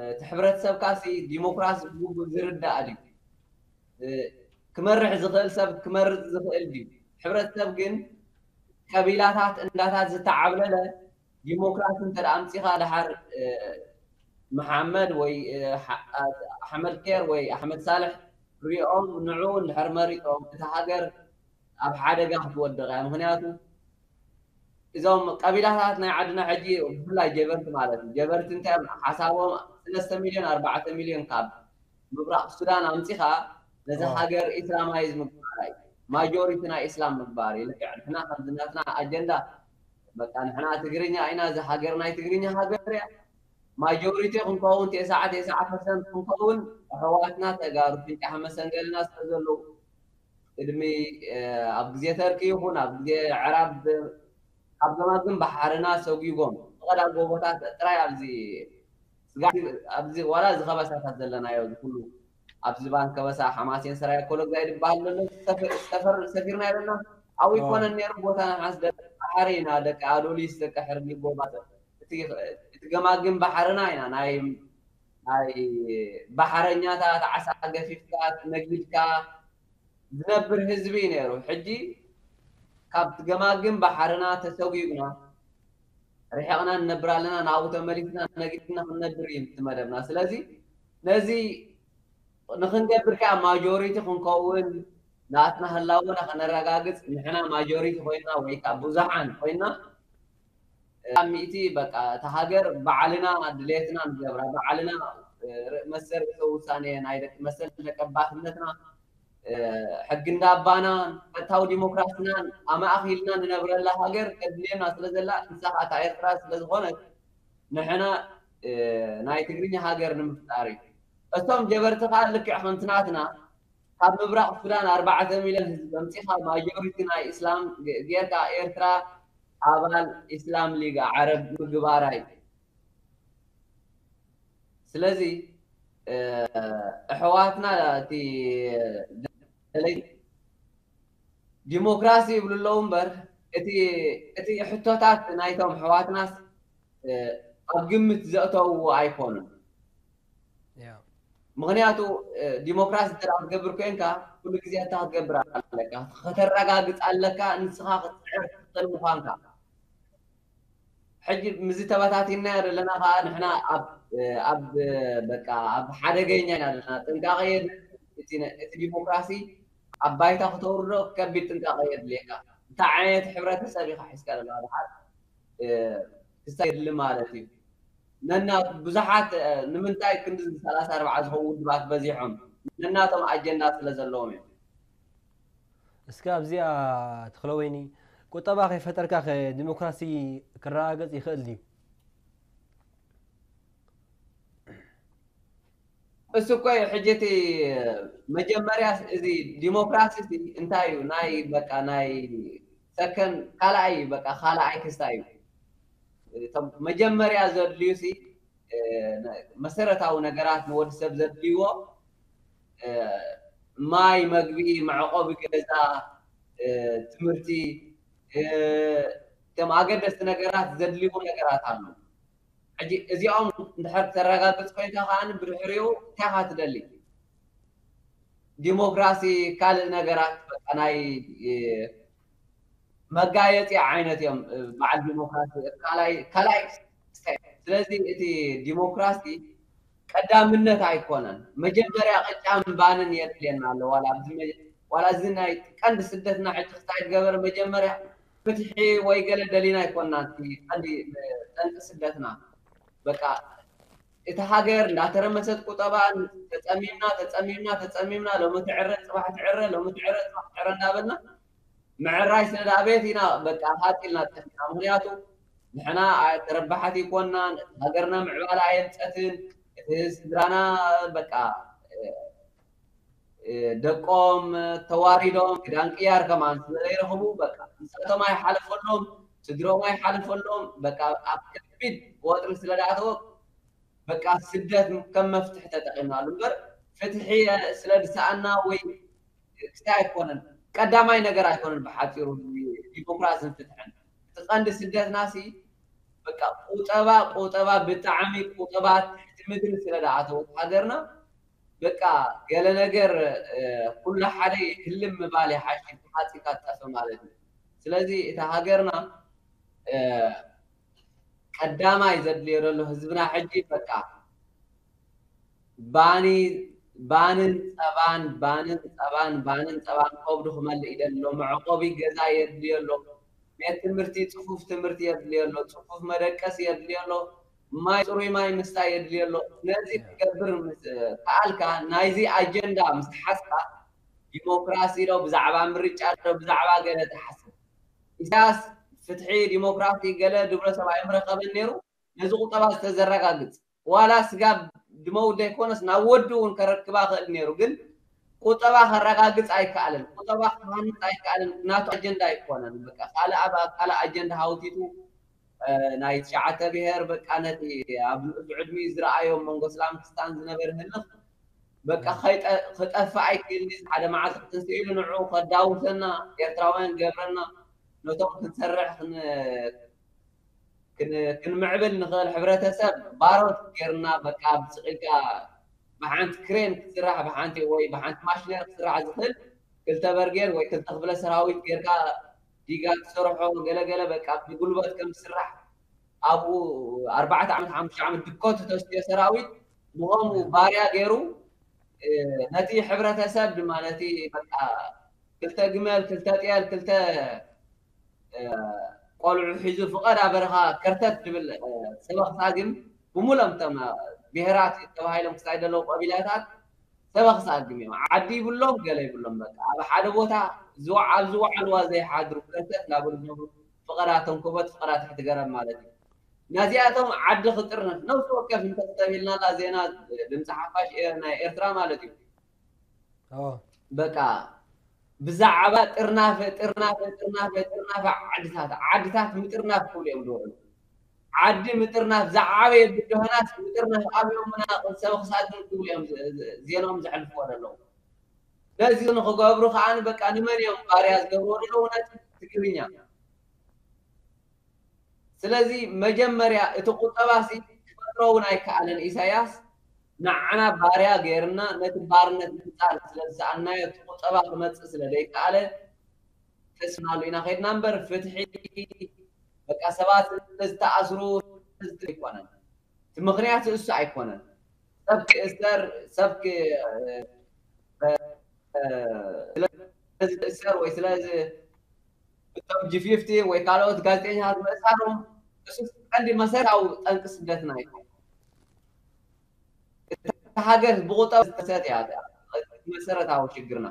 እቲ ሕብረተሰብካ ሲ ዲሞክራሲ ብግቡእ ዝርዳእ ድዩ? ክመርሕ ዝኽእል ሰብ ክመርፅ ዝኽእል ድዩ? ሕብረተሰብ ግን ቀቢላታት እንዳታት ዝተዓብለለ ዲሞክራሲ እንተ ኣምፂኻ ድሓር መሓመድ ወይ ኣሕመድ ኬር ወይ ኣሕመድ ሳልሕ ሪኦም ንዑ እንድሕር መሪጦም እታ ሃገር ኣብ ሓደጋ ክትወድቕ እያ። ምክንያቱ እዞም ቀቢላታት ናይ ዓድና ሕጂ ብፍላይ ጀበርቲ ማለት እዩ። ጀበርቲ እንታይ እዮም ሓሳቦም? ሰለስተ ሚልዮን ኣርባዕተ ሚልዮን ካብ ምብራቕ ሱዳን ኣምፂኻ ነዚ ሃገር ኢስላማይዝ ምግባር እዩ። ማጆሪቲ ናይ ኢስላም ምግባር እዩ። ልክዕ ንሕና ከምዚ ናትና ኣጀንዳ በቃ ንሕና ትግርኛ ኢና፣ እዚ ሃገር ናይ ትግርኛ ሃገር እያ። ማጆሪቲ ክንከውን ተስዓ ተስዓ ፐርሰንት ክንከውን ኣሕዋትና ተጋሩ ፍንጫሕ መሰንገልና ስለ ዘለዉ ቅድሚ ኣብ ግዜ ተርኪ ይኹን ኣብ ግዜ ዕራብ ካብ ገማግም ባሕርና ሰጒጎም ብቐዳ ጎቦታት ጥራይ ኣብዚ ስጋዕ ኣብዚ ዋላ እዚ ከበሳታት ዘለናዮ እዚ ኩሉ ኣብዚ ዝባን ከበሳ ሓማሴን ሰራየ ኮለግዛይ ዝበሃል ዘሎ ሰፈር ሰፊርና ኣለና። ኣብኡ ይኮነን ነይሩ ቦታ ንሓስ ደቂ ባሕሪ ኢና ደቂ ኣዶሊስ ደቂ ሕርጊ ጎባጥ እቲ ገማግም ባሕርና ኢና ናይ ናይ ባሕረኛታት ዓሳ ገፊፍካ ነጊድካ ዝነብር ህዝቢ እዩ ነይሩ። ሕጂ ካብቲ ገማግም ባሕርና ተሰጒግና ርሒቕና ንነብር ኣለና። ናብኡ ተመሊስና ነጊድና ክንነብር እዩ እቲ መደብና። ስለዚ ነዚ ንክንገብር ከዓ ማጆሪቲ ክንከውን ናትና ህላወና ከነረጋግፅ ንሕና ማጆሪቲ ኮይና ወይ ከዓ ብዙሓን ኮይና ኣብ ሚእቲ በቃ እታ ሃገር ባዕልና ድሌትና ንገብራ ባዕልና መሰል ርእሰ ውሳኔ ናይ ደቂ መሰል ደቀባትነትና ሕጊ እንዳባና ፈታዊ ዲሞክራስናን ኣማእኪልና ንነብረላ ሃገር ተድልየና ስለ ዘላ ንሳ ከዓ እታ ኤርትራ ስለ ዝኾነት ንሕና ናይ ትግርኛ ሃገር ንምፍጣር እዩ። እቶም ጀበርቲ ከዓ ልክዕ ከምቲ ናትና ካብ ምብራቕ ሱዳን ኣርባዕተ ሚልዮን ህዝቢ ኣምፂኻ ማጆሪቲ ናይ ኢስላም ጌርካ ኤርትራ ኣባል ኢስላም ሊግ ዓረብ ምግባራ እዩ። ስለዚ ኣሕዋትና እቲ ደለይ ዲሞክራሲ ይብሉ ኣለዉ እምበር እቲ ሕቶታት ናይቶም ኣሕዋትናስ ኣብ ግምት ዘእተውዎ ኣይኮኑን። ምኽንያቱ ዲሞክራሲ እንተ ክትገብር ኮይንካ፣ ኩሉ ግዜ እንታ ክትገብር ኣለካ፣ ከተረጋግፅ ኣለካ፣ ንስኻ ክትፅዕር ትኽእል ምዃንካ። ሕጂ ምዚ ተበታቲናዮ ዘለና ከዓ ንሕና ኣብ በቃ ኣብ ሓደገኛ ኢና ዘለና። ጥንቃቐ የድሊ። እቲ ዲሞክራሲ ኣብ ባይታ ክተውርዶ ከቢድ ጥንቃቐ የድልየካ። እንታይ ዓይነት ሕብረተሰብ ኢኻ ሒዝካ ዘለካ? ድሓር ክስታይ የድሊ ማለት እዩ። ነና ብዙሓት ንምንታይ ክንዲ ሰላሳ ኣርባዓ ዝኾኑ ውድባት በዚሖም? ነናቶም ኣጀንዳ ስለ ዘለዎም እዮም። እስከ ኣብዚኣ ተኽለወይኒ፣ ቁጠባ ከይፈጠርካ ከ ዲሞክራሲ ክረጋገጽ ይኽእል ድዩ? እሱ እኮ እዩ ሕጂ እቲ መጀመርያ እዚ ዲሞክራሲ እንታይ እዩ? ናይ በቃ ናይ ሰከን ካልኣይ በቃ ካልኣይ ክስታይ እዩ። መጀመርያ ዘድልዩ ሲ መሰረታዊ ነገራት ንወዲ ሰብ ዘድልይዎ ማይ፣ መግቢ፣ መዕቆቢ ገዛ፣ ትምህርቲ፣ እቶም ኣገደስቲ ነገራት ዘድልይዎ ነገራት ኣሎ። ሕጂ እዚኦም እንድሕር ተረጋግፅ ኮይንካ ከዓ ብድሕሪኡ እንታይ ኢኻ ትደሊ? ዲሞክራሲ ካልእ ነገራት በቃ ናይ መጋየፂ ዓይነት እዮም። በዓል ዲሞክራሲ ካልኣይ ካልኣይ ክስታይ። ስለዚ እቲ ዲሞክራሲ ቀዳምነት ኣይኮነን። መጀመርያ ቅጫን ባንን የድልየና ኣሎ። ዋላ ኣብዚ መ- ዋላ እዚ ናይ ቀንዲ ስደትና ሕጂ ክስታይ ዝገበረ መጀመርያ ፍትሒ ወይ ገለ ደሊና ኣይኮንና። እቲ ቀንዲ ጠንቂ ስደትና በቃ እቲ ሃገር እንዳተረመሰት ቁጠባ ተፀሚምና ተፀሚምና ተፀሚምና ሎሚ ትዕረ ፅባሕ ትዕረ ሎሚ ትዕረ ፅባሕ ትዕረ እንዳበልና ምዕራይ ስለ ደኣ ቤት ኢና በቃ ሃጥ ኢልና ጠፊና። ምክንያቱ ንሕና ተረባሓት ኣይኮንናን፣ እቲ ሃገርና ምዕባለ ኣየምፀትን፣ እቲ ስድራና በቃ ደቆም ተዋሪዶም ክዳን ቅያር ከማን ስለ ዘይረኽቡ በቃ ንሳቶም ኣይሓለፈሎም፣ ስድሮም ኣይሓለፈሎም። በቃ ኣብ ከቢድ ወጥሪ ስለ ደኣተወ በቃ ስደት ከም መፍትሒ ተጠቂምናሉ እምበር ፍትሒ ስለ ዝሰኣና ወይ ክስታይ ኣይኮነን። ቀዳማይ ነገር ኣይኮነን። ብሓፂሩ ዲሞክራስን ፍትሕን እቲ ቀንዲ ስደትና ሲ በቃ ቁጠባ ቁጠባ ብጣዕሚ ቁጠባ ትሕቲ ምድሪ ስለ ዝኣተወት ሃገርና በቃ ገለ ነገር ኩሉ ሓደ ህልም ምባል ይሓይሽ ተሓፂካ ትጠፍእ ማለት እዩ። ስለዚ እታ ሃገርና ቀዳማይ ዘድልዮ ዘሎ ህዝብና ሕጂ በቃ ባኒ ባንን ፀባን ባንን ፀባን ባንን ፀባን ከብዱ ክመልእ ይደሊ ኣሎ። መዕቆቢ ገዛ የድልዮ ኣሎ። ቤት ትምህርቲ ፅፉፍ ትምህርቲ የድልዮ ኣሎ። ፅፉፍ መደቀሲ የድልዮ ኣሎ። ማይ ፅሩይ ማይ ምስታይ የድልዮ ኣሎ። ነዚ ክገብር ምስ ከኣልካ ናይዚ ኣጀንዳ ምስ ሓዝካ ዲሞክራሲ ዶ ብዛዕባ ምርጫ ዶ ብዛዕባ ገለ ትሓስብ። ኢሳያስ ፍትሒ ዲሞክራሲ ገለ ድብሎ ሰብ ኣይምረኸበን ነይሩ። ነዚ ቁጠባ ዝተዘረጋግፅ ዋላ ስጋብ ድመውት ዘይኮነስ ናብ ወዲ እውን ከረክባ ክእል ነይሩ። ግን ቁጠባ ከረጋግፅ ኣይከኣለን። ቁጠባ ክሃንፅ ኣይከኣለን። ናቱ ኣጀንዳ ኣይኮነን። በቃ ካልእ ኣብ ካልእ ኣጀንዳ ሃውቲቱ ናይ ትሽዓተ ብሄር በቃ ነቲ ኣብ ንኡስ ዕድሚኡ ዝረኣዮ መንጎ እስላም ክስታን ዝነበረ ህልኽ በቃ ክጠፍእ ኣይክእል ሓደ መዓልቲ ክትንስኢሉ ንዑ ከዳውሰና ኤርትራውያን ገብረና ነቶም ክንሰርሕ ክንምዕብል ንኽእል ሕብረተሰብ ባሮት ጌርና በቃ ብስቕ ኢልካ ብሓንቲ ክሬን ክስራሕ ብሓንቲ ወይ ብሓንቲ ማሽነር ክስራሕ ዝኽእል ክልተ በርጌድ ወይ ክልተ ክፍለ ሰራዊት ጌርካ ዲጋ ትሰርሖ ገለገለ በቃ ብጉልበት ከም ዝስራሕ ኣብኡ ኣርባዕተ ዓመት ሓሙሽተ ዓመት ድኮ ተተስትዮ ሰራዊት ብኸምኡ ባርያ ገይሩ ነቲ ሕብረተሰብ ድማ ነቲ በቃ ክልተ ግመል ክልተ ጤል ክልተ ቆልዑ ሒዙ ፍቐዳ በረኻ ከርተት ዝብል ሰበኽ ሳግም ብምሎም እቶም ብሄራት ተባሂሎም ክሳይ ዘለዉ ቀቢላታት ሰበኽ ሳግም እዮም። ዓዲ ይብሎም ገለ ይብሎም በቃ ኣብ ሓደ ቦታ ኣብ ዝወዓልዋ ዘይሓድሩ ከርተት እናበሉ ዝነብሩ ፍቐዳ ተንኮበት ፍቐዳ ትሕቲ ገረብ ማለት እዩ። ናዚኣቶም ዓዲ ክጥርነፍ ነብሲ ወከፍ እንተተቢልናላ ዜና ድምፂ ሓፋሽ ናይ ኤርትራ ማለት እዩ። በቃ ብዛዕባ ጥርናፈ ጥርናፈ ጥርናፈ ጥርናፈ ዓድታት ዓድታት ምጥርናፍ ክብሉ እዮም ዝውዕሉ። ዓዲ ምጥርናፍ ዝዓበየ ብድሆናት ምጥርናፍ ኣብዮምና ሰብ ክሳግን ክብሉ እዮም ዜናኦም ዘሕልፍዎ ዘለዉ። ነዚ ንክገብሩ ከዓ በቃ ንመን እዮም ባርያ ዝገብርዎ ዘለዉ ነቲ ትግርኛ። ስለዚ መጀመርያ እቲ ቁጠባ ሲ ክፈጥሮ እውን ኣይከኣለን ኢሳያስ ንዓና ባርያ ገይርና ነቲ ባርነት ምጻር ስለ ዝሰኣናዮ እቲ ቁጠባ ክመጽእ ስለ ዘይከኣለ ተስናሉ ኢና ከድና እምበር ፍትሒ በቃ ሰባት ስለዝተኣስሩ ኣይኮነን። እቲ ምኽንያት እሱ ኣይኮነን። ሰብ ክእሰር ሰብ ስለዚ ክእሰር ወይ ስለዚ እቶም ጂ ፊፍቲ ወይ ካልኦት ጋዜጠኛታት ምእሳሮም እሱ ቀንዲ መሰረታዊ ጠንቂ ስደትና ኣይኮነን። እታ ሃገር ብቁጠባ ዝተሰት እያ መሰረታዊ ሽግርና።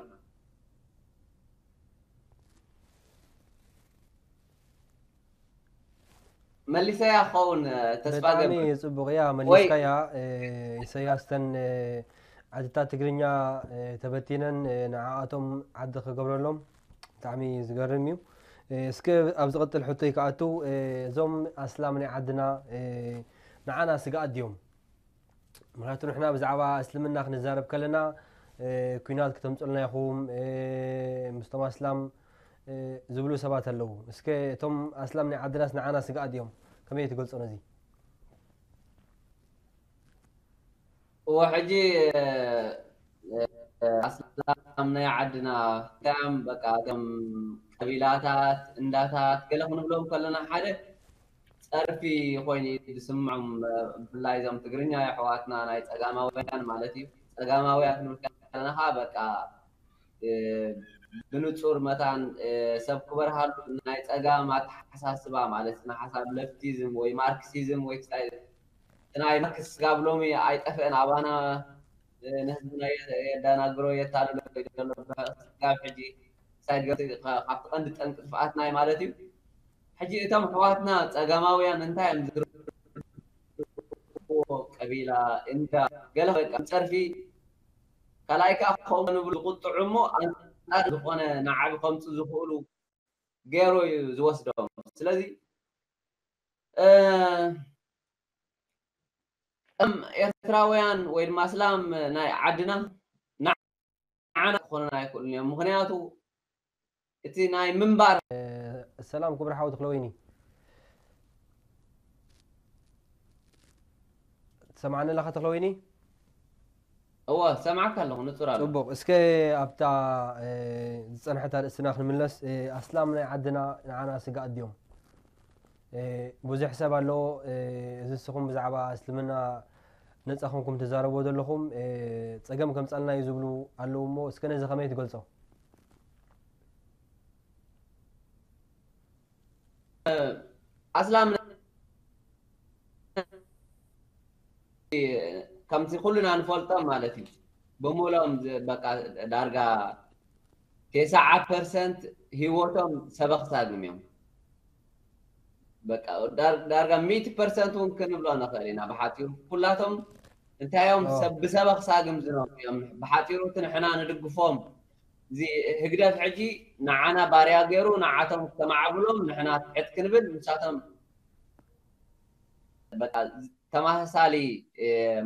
መሊሰያ ክኸውን ተስፋ ገብር። ጽቡቕ እያ መሊስካያ። ኢሰያስ ተን ዓድታት ትግርኛ ተበቲነን ንዓኣቶም ዓዲ ክገብረሎም ብጣዕሚ ዝገርም እዩ። እስከ ኣብ ዝቕጥል ሕቶይ ክኣቱ፣ እዞም ኣስላም ናይ ዓድና ንዓና ስግኣት ድዮም? ምክንያቱ ንሕና ብዛዕባ እስልምና ክንዛረብ ከለና ኩናት ክተምፅልና ኢኹም ምስቶም ኣስላም ዝብሉ ሰባት ኣለዉ። እስከ እቶም ኣስላም ናይ ዓድናስ ንዓና ስግኣት እዮም? ከመይ ትገልፆ ነዚ? እወ ሕጂ ኣስላም ናይ ዓድና ከም በቃ ከም ቀቢላታት እንዳታት ገለ ክንብሎም ከለና ሓደ ፀርፊ ኮይኑ ዝስምዖም ብፍላይ እዞም ትግርኛ ኣሕዋትና ናይ ፀጋማውያን ማለት እዩ። ፀጋማውያን ክንብል ከለና ከዓ በቃ ብንፁር መታን ሰብ ክበርሃሉ ናይ ፀጋም ኣተሓሳስባ ማለት ንሓሳብ ለፍቲዝም ወይ ማርክሲዝም ወይ ክሳይ ናይ ማርክስ ስጋብ ሎሚ ኣይጠፍአን ኣባና ንህዝብና የዳናግሮ የታልሎ ዘሎ ስጋብ ሕጂ ሳይድ ካብቲ ቀንዲ ጠንቂ ጥፍኣትና እዩ ማለት እዩ። ሕጂ እቶም ኣሕዋትና ፀጋማውያን እንታይ እዮም ዝርድእዎ ቀቢላ እንዳ ገለ በቃ ፀርፊ ካልኣይ ከዓ ከምኡ ንብሉ ዝቁጥዑ እሞ ኣንፃር ዝኾነ ንዓቢ ከምፁ ዝኽእሉ ገይሩ እዩ ዝወስዶም። ስለዚ እም ኤርትራውያን ወይ ድማ ኣስላም ናይ ዓድና ንዓና ክኾኑና ኣይክእሉን እዮም። ምክንያቱ እቲ ናይ ምንባር ሰላም ክቡር ሓው ተኽለወይኒ፣ ትሰምዓኒ ኣለኻ ተኽለወይኒ? እወ ሰምዓካ ኣለኹ ንጹር ኣሎ። ጽቡቕ። እስከ ኣብታ ዝጸንሐት ኣርእስትና ክንምለስ። ኣስላም ናይ ዓድና ንዓና ስጋኣት ድዮም? ብዙሕ ሰብ ኣሎ፣ እዚ ንስኹም ብዛዕባ እስልምና ነጻ ኮንኩም ትዛረብዎ ዘለኹም ጸገም ከምጻልና እዩ ዝብሉ ኣለዉ እሞ እስከ ነዚ ከመይ ትገልጾ? ኣስላም ከምቲ ኩልና ንፈልጦም ማለት እዩ። ብምሎም በቃ ዳርጋ ተስዓ ፐርሰንት ህይወቶም ሰበኽ ሳግም እዮም። በቃ ዳርጋ ሚእቲ ፐርሰንት እውን ክንብሎ ንኽእል ኢና። ብሓፂሩ ኩላቶም እንታይ እዮም? ብሰበኽ ሳግም ዝነብሩ እዮም። ብሓፂሩ እቲ ንሕና ንድግፎም እዚ ህግደፍ ሕጂ ንዓና ባርያ ገይሩ ንዓቶም ከማዕብሎም ንሕና ትሕት ክንብል ንሳቶም በቃ ተመሳሳሊ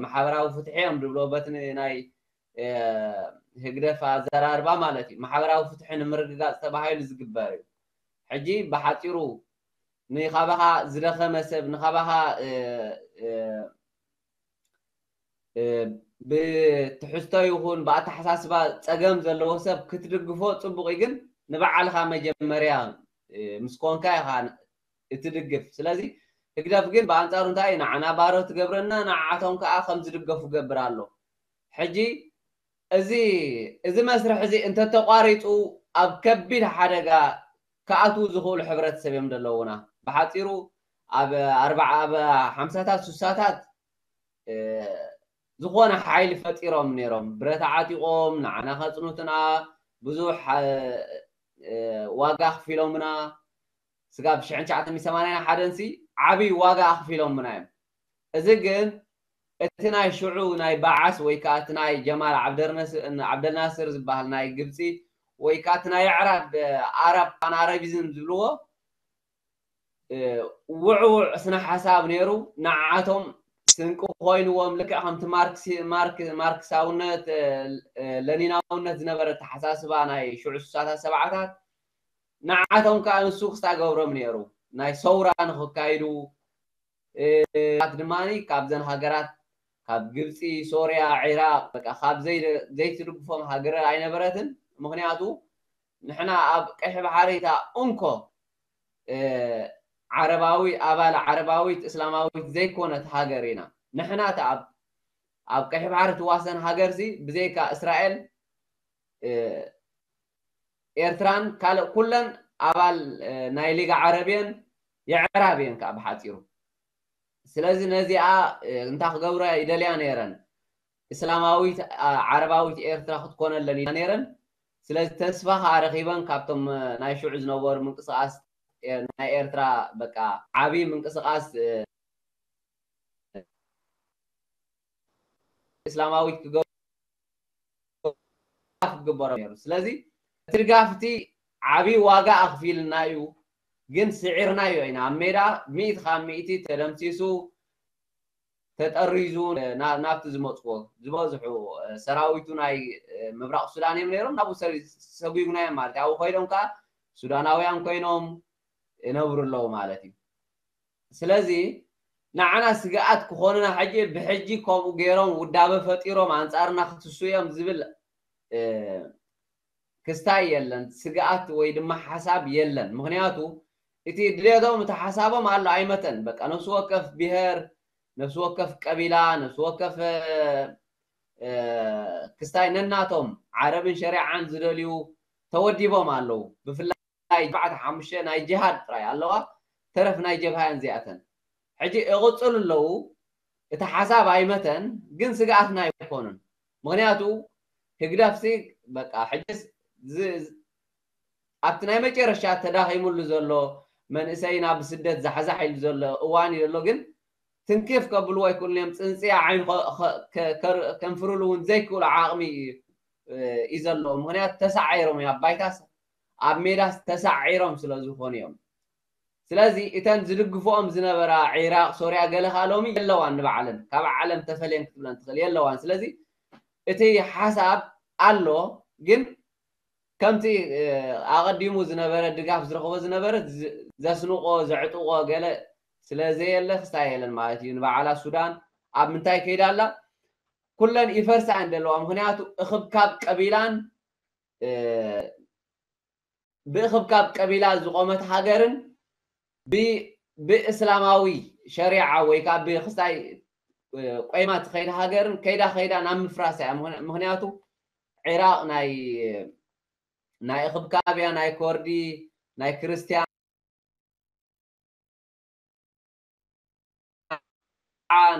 ማሕበራዊ ፍትሒ እዮም ድብሎ በቲ ናይ ህግደፍ ኣዘራርባ ማለት እዩ። ማሕበራዊ ፍትሒ ንምርግጋፅ ተባሂሉ ዝግበር እዩ። ሕጂ ብሓፂሩ ንኻባኻ ዝደኸመ ሰብ ንኻባኻ ብትሕዝቶ ይኹን ብኣተሓሳስባ ፀገም ዘለዎ ሰብ ክትድግፎ ፅቡቕ እዩ፣ ግን ንባዕልኻ መጀመርያ ምስ ኮንካ ኢኻ እትድግፍ። ስለዚ ህግደፍ ግን ብኣንፃሩ እንታይ እዩ ንዓና ባሮ ትገብረና፣ ንዓቶም ከዓ ከም ዝድገፉ ገብር ኣሎ። ሕጂ እዚ እዚ መስርሕ እዚ እንተተቋሪፁ ኣብ ከቢድ ሓደጋ ክኣትዉ ዝኽእሉ ሕብረተሰብ እዮም ዘለዉና። ብሓፂሩ ኣብ ኣርባዓ ኣብ ሓምሳታት ሱሳታት ዝኾነ ሓይሊ ፈጢሮም ነይሮም። ብረት ዓጢቖም ንዓና ከፅኑትና ብዙሕ ዋጋ ኣኽፊሎምና። ስጋብ ሽሕን ትሽዓተ ሚእትን ሰማንያን ሓደን ሲ ዓብዪ ዋጋ ኣኽፊሎምና እዮም። እዚ ግን እቲ ናይ ሽዑ ናይ በዓስ ወይ ከዓ እቲ ናይ ጀማል ዓብደልናስር ዝበሃል ናይ ግብፂ ወይ ከዓ እቲ ናይ ኣዕራብ ኣረብ ፓን ኣረቢዝም ዝብልዎ ውዕውዕ ስነ ሓሳብ ነይሩ። ንዓቶም ስንቂ ኮይንዎም ልክዕ ከምቲ ማርክሳውነት ለኒናውነት ዝነበረ ተሓሳስባ ናይ ሽዑ ስሳታት ሰብዓታት ንዓቶም ከዓ ንሱ ክስታ ገብሮም ነይሩ ናይ ሰውራ ንክካይዱ ት ድማ ካብዘን ሃገራት ካብ ግብፂ፣ ሶርያ፣ ዒራቅ፣ በቃ ካብ ዘይደ-፣ ዘይትድግፎም ሃገር ኣይነበረትን። ምኽንያቱ ንሕና ኣብ ቀይሕ ባሕሪ እታ እንኮ፣ እ፣ ዓረባዊ ኣባል ዓረባዊት እስላማዊት ዘይኮነት ሃገር ኢና። ንሕና እታ ኣብ፣ ኣብ ቀይሕ ባሕሪ ትዋሰን ሃገርሲ ብዘይካ እስራኤል፣ እ፣ ኤርትራን ካልእ ኩለን ኣባል፣ እ፣ ናይ ሊግ ዓረብ እየን፣ የዕራብ እየን ከኣ ብሓጺሩ። ስለዚ ነዚኣ፣ እ፣ እንታይ ክገብራ ይደልያ ነይረን? እስላማዊት፣ አ፣ ዓረባዊት ኤርትራ ክትኮነለን ይደልያ ነይረን። ስለዚ ተስፋ ከኣ ረኺበን ካብቶም፣ እ፣ ናይ ሽዑ ዝነበሩ ምንቅስቃስ፣ እ፣ ናይ ኤርትራ በቃ ዓቢ ምንቅስቃስ፣ እ፣ እስላማዊት ክገብሩ ክግበሮ ነይሩ። ስለዚ እቲ ድጋፍ እቲ ዓቢ ዋጋ ኣኽፊልና እዩ፣ ግን ስዒርናዮ ኢና። ኣብ ሜዳ ሚእቲ ካብ ሚእቲ ተደምሲሱ፣ ተጠሪዙ፣ ና-፣ ናብቲ ዝመጽዎ ዝበዝሑ፣ እ፣ ሰራዊቱ ናይ፣ እ፣ ምብራቕ ሱዳን እዮም ነይሮም። ናብኡ ሰሪ-፣ ሰጒጉናዮም ማለት እዩ። ኣብኡ ኮይኖም ከኣ ሱዳናውያን ኮይኖም ይነብሩ ኣለዉ ማለት እዩ። ስለዚ ንዓና ስግኣት ክኾኑና ሕጂ ብሕጂ ከምኡ ገይሮም ውዳበ ፈጢሮም ኣንጻርና ክትሱ እዮም ዝብል፣ እ፣ ክስታይ የለን፣ ስግኣት ወይ ድማ ሓሳብ የለን። ምኽንያቱ እቲ ድሌቶም፣ እቲ ሓሳቦም ኣሎ ኣይመተን። በቃ ነፍሲ ወከፍ ብሄር፣ ነፍሲ ወከፍ ቀቢላ፣ ነፍሲ ወከፍ፣ እ፣ ክስታይ ነናቶም ዓረብን ሸሪዓን ዝደልዩ ተወዲቦም ኣለዉ። ብፍላይ ኣርባዕተ ሓሙሽተ ናይ ጅሃድ ጥራይ ኣለዋ፣ ተረፍ ናይ ጀብሃ እየን እዚኣተን። ሕጂ ይቕጽሉ ኣለዉ። እቲ ሓሳብ ኣይመተን፣ ግን ስግኣትና ኣይኮኑን። ምኽንያቱ ህግደፍሲ በቃ ሕጅስ ዝ-፣ ዝ-፣ ኣብቲ ናይ መጨረሻ ተዳኺሙሉ ዘሎ መንእሰይና ብስደት ዛሕዛሕ ኢሉ ዘሎ እዋን እዩ ዘሎ፣ ግን ትንክፍ ከብልዎ ኣይክእሉን እዮም። ጽንጽያ ዓይን ኸ-፣ ኸ-፣ ከ-፣ ከር-፣ ከንፍርሉ እውን ዘይክእሉ ዓቕሚ እዩ፣ እ፣ እዩ ዘለዎ። ምኽንያቱ ተሳዒሮም እዮም፣ ኣብ ባይታስ ኣብ ሜዳስ ተሳዒሮም ስለ ዝኾኑ እዮም። ስለዚ እተን ዝድግፍኦም ዝነበራ ዒራቕ፣ ሶርያ ገለ ከኣ ሎሚ የለዋን፣ ንባዕለን ካብ ዓለም ተፈልየን ክትብለን ትኽእል የለዋን። ስለዚ እቲ ሓሳብ ኣሎ፣ ግን ከምቲ፣ እ፣ ኣቐዲሙ ዝነበረ ድጋፍ ዝረኽቦ ዝነበረ ዝ-፣ ዘስንቆ፣ ዘዕጥቆ ገለ ስለ ዘየለ ክስታይ የለን ማለት እዩ። ንባዕላ ሱዳን ኣብ ምንታይ ከይዳ ኣላ? ኩለን ይፈርሳ እየን ዘለዋ። ምኽንያቱ እኽብካብ ቀቢላን፣ እ፣ ብእኽብካብ ቀቢላ ዝቖመት ሃገርን ብ-፣ ብእስላማዊ ሸሪዓ ወይ ከዓ ብክስታይ፣ እ፣ ቆይማ ትኸይድ ሃገርን ከይዳ ከይዳ ናብ ምፍራስ እያ። ምኽንያ-፣ ምኽንያቱ ዒራቕ ናይ፣ ናይ እኽብካብ እያ፣ ናይ ኮርዲ፣ ናይ ክርስትያን፣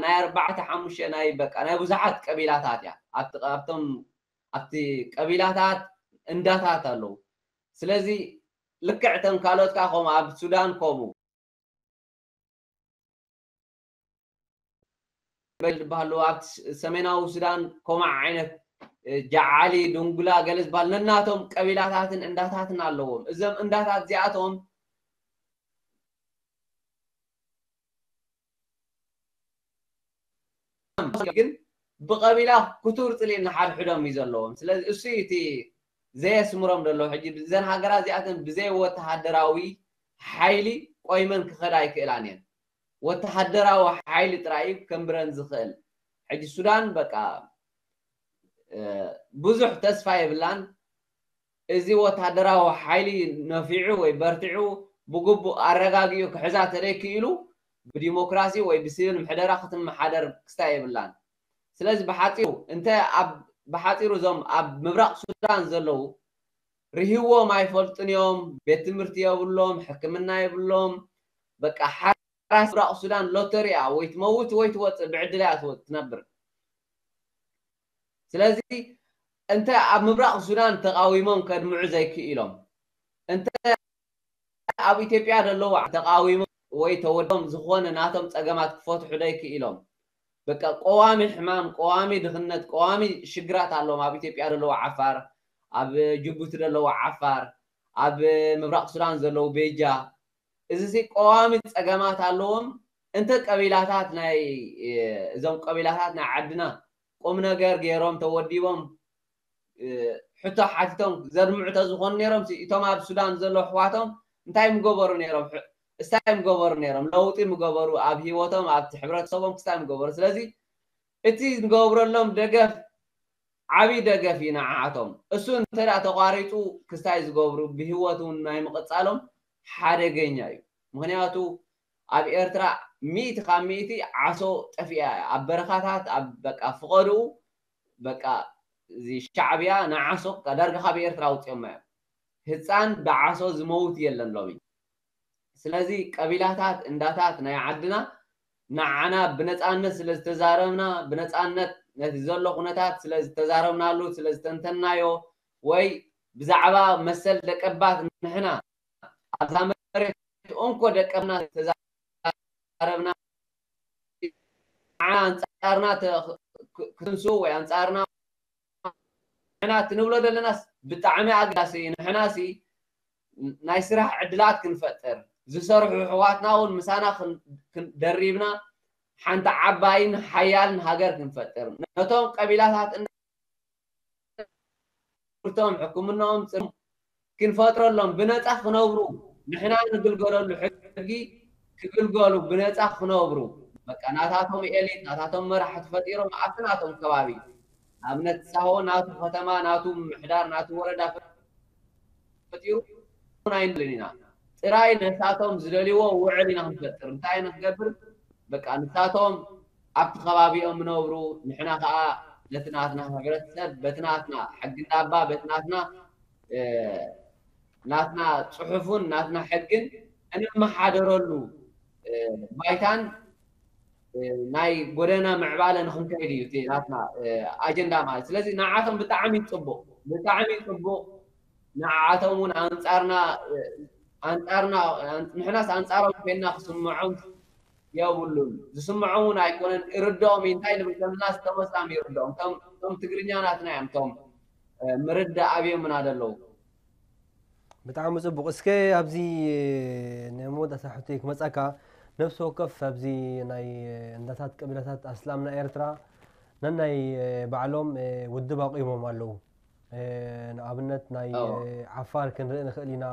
ናይ ኣርባዕተ ሓሙሽተ ናይ በቃ ናይ ብዙሓት ቀቢላታት እያ። ኣብቲ፣ ኣብቶም፣ ኣብቲ ቀቢላታት እንዳታት ኣለዉ። ስለዚ ልክዕ እተን ካልኦት ከዓ ከምኡ ኣብ ሱዳን ከምኡ ዝበሃሉ፣ ኣብ ሰሜናዊ ሱዳን ከምኡ ዓይነት፣ እ፣ ጃዓሊ፣ ዱንጉላ፣ ገለ ዝበሃል ነናቶም ቀቢላታትን እንዳታትን ኣለዎም። እዞም እንዳታት እዚኣቶም ግን ብቐቢላ ክቱር ጽልኢ ንሓድሕዶም እዩ ዘለዎም። ስለዚ እሱ እዩ እቲ ዘየስምሮም ዘሎ። ሕጂ እዘን ሃገራት እዚኣተን ብዘይ ወተሃደራዊ ሓይሊ ቆይመን ክኸዳ ኣይክእላን እየን። ወተሃደራዊ ሓይሊ ጥራይ እዩ ከንብረን ዝኽእል። ሕጂ ሱዳን በቃ፣ እ፣ ብዙሕ ተስፋ የብላን። እዚ ወተሃደራዊ ሓይሊ ነፊዑ ወይ በርቲዑ ብግቡእ ኣረጋጊኡ ክሕዛ ተደይክኢሉ ብዲሞክራሲ ወይ ብሲቪል ምሕደራ ክትመሓደር ክስታይ የብላን። ስለዚ ብሓጺሩ እንተ ኣብ፣ ብሓጺሩ እዞም ኣብ ምብራቕ ሱዳን ዘለዉ ርህዎም ኣይፈልጡን እዮም። ቤት ትምህርቲ የብሎም፣ ሕክምና የብሎም። በቃ ሓራስ ምብራቕ ሱዳን ሎተሪ እያ፣ ወይ ትመውት ወይ ትወጽእ፣ ብዕድል እያ ትወ-፣ ትነብር። ስለዚ እንተ ኣብ ምብራቕ ሱዳን ተቃዊሞም ከድምዑ ዘይክኢሎም፣ እንተ ኣብ ኢትዮጵያ ዘለዉ ተቃዊሞም ወይ ተወዶም ዝኾነ ናቶም ጸገማት ክፈትሑ ዘይክኢሎም፣ በቃ ቀዋሚ ሕማም፣ ቀዋሚ ድኽነት፣ ቀዋሚ ሽግራት ኣለዎም። ኣብ ኢትዮጵያ ዘለዉ ዓፋር፣ ኣብ ጅቡቲ ዘለዉ ዓፋር፣ ኣብ ምብራቕ ሱዳን ዘለዉ ቤጃ፣ እዚ ሲ ቀዋሚ ጸገማት ኣለዎም። እንተ ቀቢላታት ናይ፣ እ፣ እዞም ቀቢላታት ናይ ዓድና ቁም ነገር ገይሮም ተወዲቦም፣ እ፣ ሕቶ ሓቲቶም ዘድምዑ ተዝኾኑ ነይሮም ሲ፣ እቶም ኣብ ሱዳን ዘሎ ኣሕዋቶም እንታይ ምገበሩ ነይሮም? ሕ-፣ እስታይ ምገበሩ ነይሮም? ለውጢ ምገበሩ? ኣብ ህይወቶም፣ ኣብቲ ሕብረተሰቦም ክስታይ ምገበሩ? ስለዚ እቲ ንገብረሎም ደገፍ ዓብዪ ደገፍ እዩ ንዓዓቶም። እሱ እንተ ደኣ ተቋሪፁ ክስታይ ዝገብሩ ብህይወት እውን ናይ ምቕፃሎም ሓደገኛ እዩ። ምክንያቱ ኣብ ኤርትራ ሚእቲ ካብ ሚእቲ ዓሶ ጠፊኣ እያ። ኣብ በረኻታት ኣብ በቃ ፍቐድኡ በቃ እዚ ሻዕብያ ንዓሶ በቃ ዳርጋ ካብ ኤርትራ ኣውፅኦማ እዮም። ህፃን ብዓሶ ዝመውት የለን ሎሚ። ስለዚ ቀቢላታት እንዳታት ናይ ዓድና ንዓና ብነፃነት ስለ ዝተዛረብና ብነፃነት ነቲ ዘሎ ኩነታት ስለ ዝተዛረብናሉ ስለ ዝተንተናዮ ወይ ብዛዕባ መሰል ደቀባት ንሕና ኣብዛ መሬት እንኮ ደቀብና ተዛረብና ንዓና ኣንፃርና ክትንሱ ወይ ኣንፃርና ንሕና እቲ ንብሎ ዘለናስ ብጣዕሚ ኣገዳሲ እዩ። ንሕናሲ ናይ ስራሕ ዕድላት ክንፈጥር ዝሰርሑ ኣሕዋትና እውን ምሳና ደሪብና ሓንቲ ዓባይን ሓያልን ሃገር ክንፈጥር ነቶም ቀቢላታት ትምህርቶም ሕክምናኦም ፅም ክንፈጥረሎም ብነፃ ክነብሩ ንሕና ንግልገለሉ ሕጊ ክግልገሉ ብነፃ ክነብሩ በቃ ናታቶም ኤሊት ናታቶም መራሕቲ ፈጢሮም ኣብቲ ናቶም ከባቢ ኣብነት ሳሆ ናቱ ከተማ ናቱ ምሕዳር ናቱ ወረዳ ፈጢሩ ኣይንልን ኢና ጥራይ ነሳቶም ዝደልይዎ ውዕል ኢና ክንፈጥር እንታይ ኢና ክገብር በቃ ንሳቶም ኣብቲ ከባቢኦም ይነብሩ ንሕና ከዓ ነቲ ናትና ሕብረተሰብ በቲ ናትና ሕጊ እንዳባ በቲ ናትና ናትና ፅሑፉን ናትና ሕግን እንመሓደረሉ ባይታን ናይ ጎደና ምዕባለ ንክንከይድ እዩ እቲ ናትና ኣጀንዳ ማለት ስለዚ ንዓቶም ብጣዕሚ ፅቡቅ ብጣዕሚ ፅቡቅ ንዓቶም እውን ኣንፃርና ኣንፃርና ንሕናስ ኣንፃሮም ኮይንና ክስምዖም የብሉን ዝስምዖም እውን ኣይኮነን ይርድኦም እዩ እንታይ ንብል ከምና ዝተመስላም ይርድኦም እቶም ትግርኛ ናትና እዮም እቶም ምርዳእ ኣብዮምና ዘለዉ ብጣዕሚ ፅቡቅ እስከ ኣብዚ ናይ መወዳእታ ሕቶይ ክመፀካ ነብሲ ወከፍ ኣብዚ ናይ እንዳታት ቀቢላታት ኣስላምና ኤርትራ ነናይ ባዕሎም ውድብ ኣቂሞም ኣለዉ ንኣብነት ናይ ዓፋር ክንርኢ ንኽእል ኢና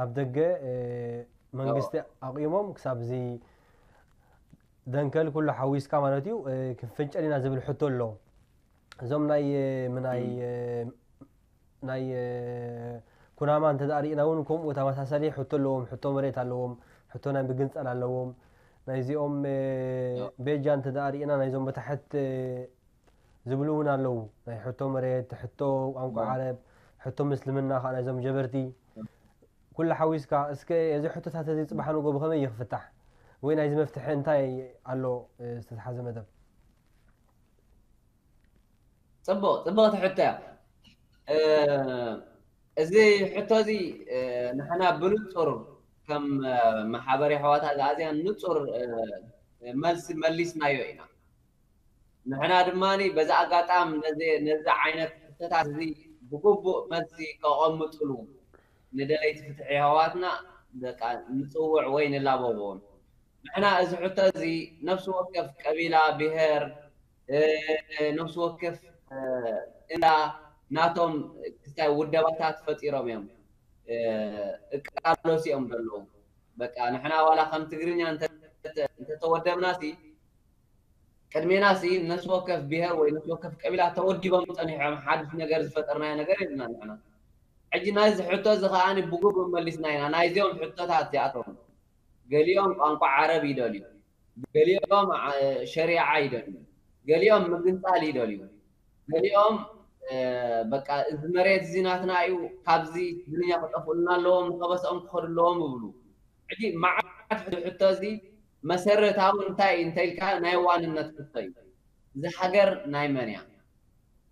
ኣብ ደገ መንግስቲ ኣቂሞም ክሳብ እዚ ደንከል ኩሉ ሓዊስካ ማለት እዩ ክንፍንጨል ኢና ዝብል ሕቶ ኣሎ እዞም ናይ ምናይ ናይ ኩናማ እንተ ሪእና እውን ከምኡ ተመሳሳሊ ሕቶ ኣለዎም ሕቶ መሬት ኣለዎም ሕቶ ናይ ምግንፃል ኣለዎም ናይዚኦም ቤጃ እንተ ሪእና ናይዞም በታሕት ዝብሉ እውን ኣለዉ ናይ ሕቶ መሬት ሕቶ ቋንቋ ዓረብ ሕቶ ምስልምና ከዓ ናይዞም ጀበርቲ ኩሉ ሓዊስካ እስከ እዚ ሕቶታት እዚ ፅባሕ ንጎ ብከመይ ይክፍታሕ ወይ ናይዚ መፍትሒ እንታይ ኣሎ ዝተትሓዘ መደብ ፅቡቅ ፅቡቅ ትሕቶ እያ እዚ ሕቶ እዚ ንሕና ብንፁር ከም ማሓበሪ ኣሕዋት ኣግኣዝያን ንፁር መልሲ መሊስናዮ ኢና ንሕና ድማ በዚ ኣጋጣም ነዚ ዓይነት ሕቶታት እዚ ብግቡእ መልሲ ከቐምጥሉ ንደለይቲ ፍትሒ ኣሕዋትና ንፅውዕ ወይ ንላበዎም ንሕና እዚ ሕቶ እዚ ነፍሲ ወከፍ ቀቢላ ብሄር ነፍሲ ወከፍ እንዳ ናቶም ክስታይ ውደባታት ፈጢሮም እዮም እቃለሱ እዮም ዘለዉ በቃ ንሕና ዋላ ከም ትግርኛ እንተተወደብና ሲ ቅድሜና ሲ ነፍሲ ወከፍ ብሄር ወይ ነፍሲ ወከፍ ቀቢላ ተወዲቦም ፀኒሖም ሓድሽ ነገር ዝፈጠርናዮ ነገር የብልና ንሕና ሕጂ ናይዚ ሕቶ እዚ ከዓ ብግቡእ መሊስና ኢና ናይዚኦም ሕቶታት እዚኣቶም ገሊኦም ቋንቋ ዓረብ ይደልዩ ገሊኦም ሸሪዓ ይደልዩ ገሊኦም ምግንፃል ይደልዩ ገሊኦም በቃ እዚ መሬት እዚ ናትና እዩ ካብዚ ትግርኛ ክጠፍኡልና ኣለዎም ንከበስኦም ክኸዱ ኣለዎም ይብሉ ሕጂ መዓት ሕቶ እዚ መሰረታዊ እንታይ እንተኢልካ ናይ ዋንነት ሕቶ እዩ እዚ ሃገር ናይ መን እያ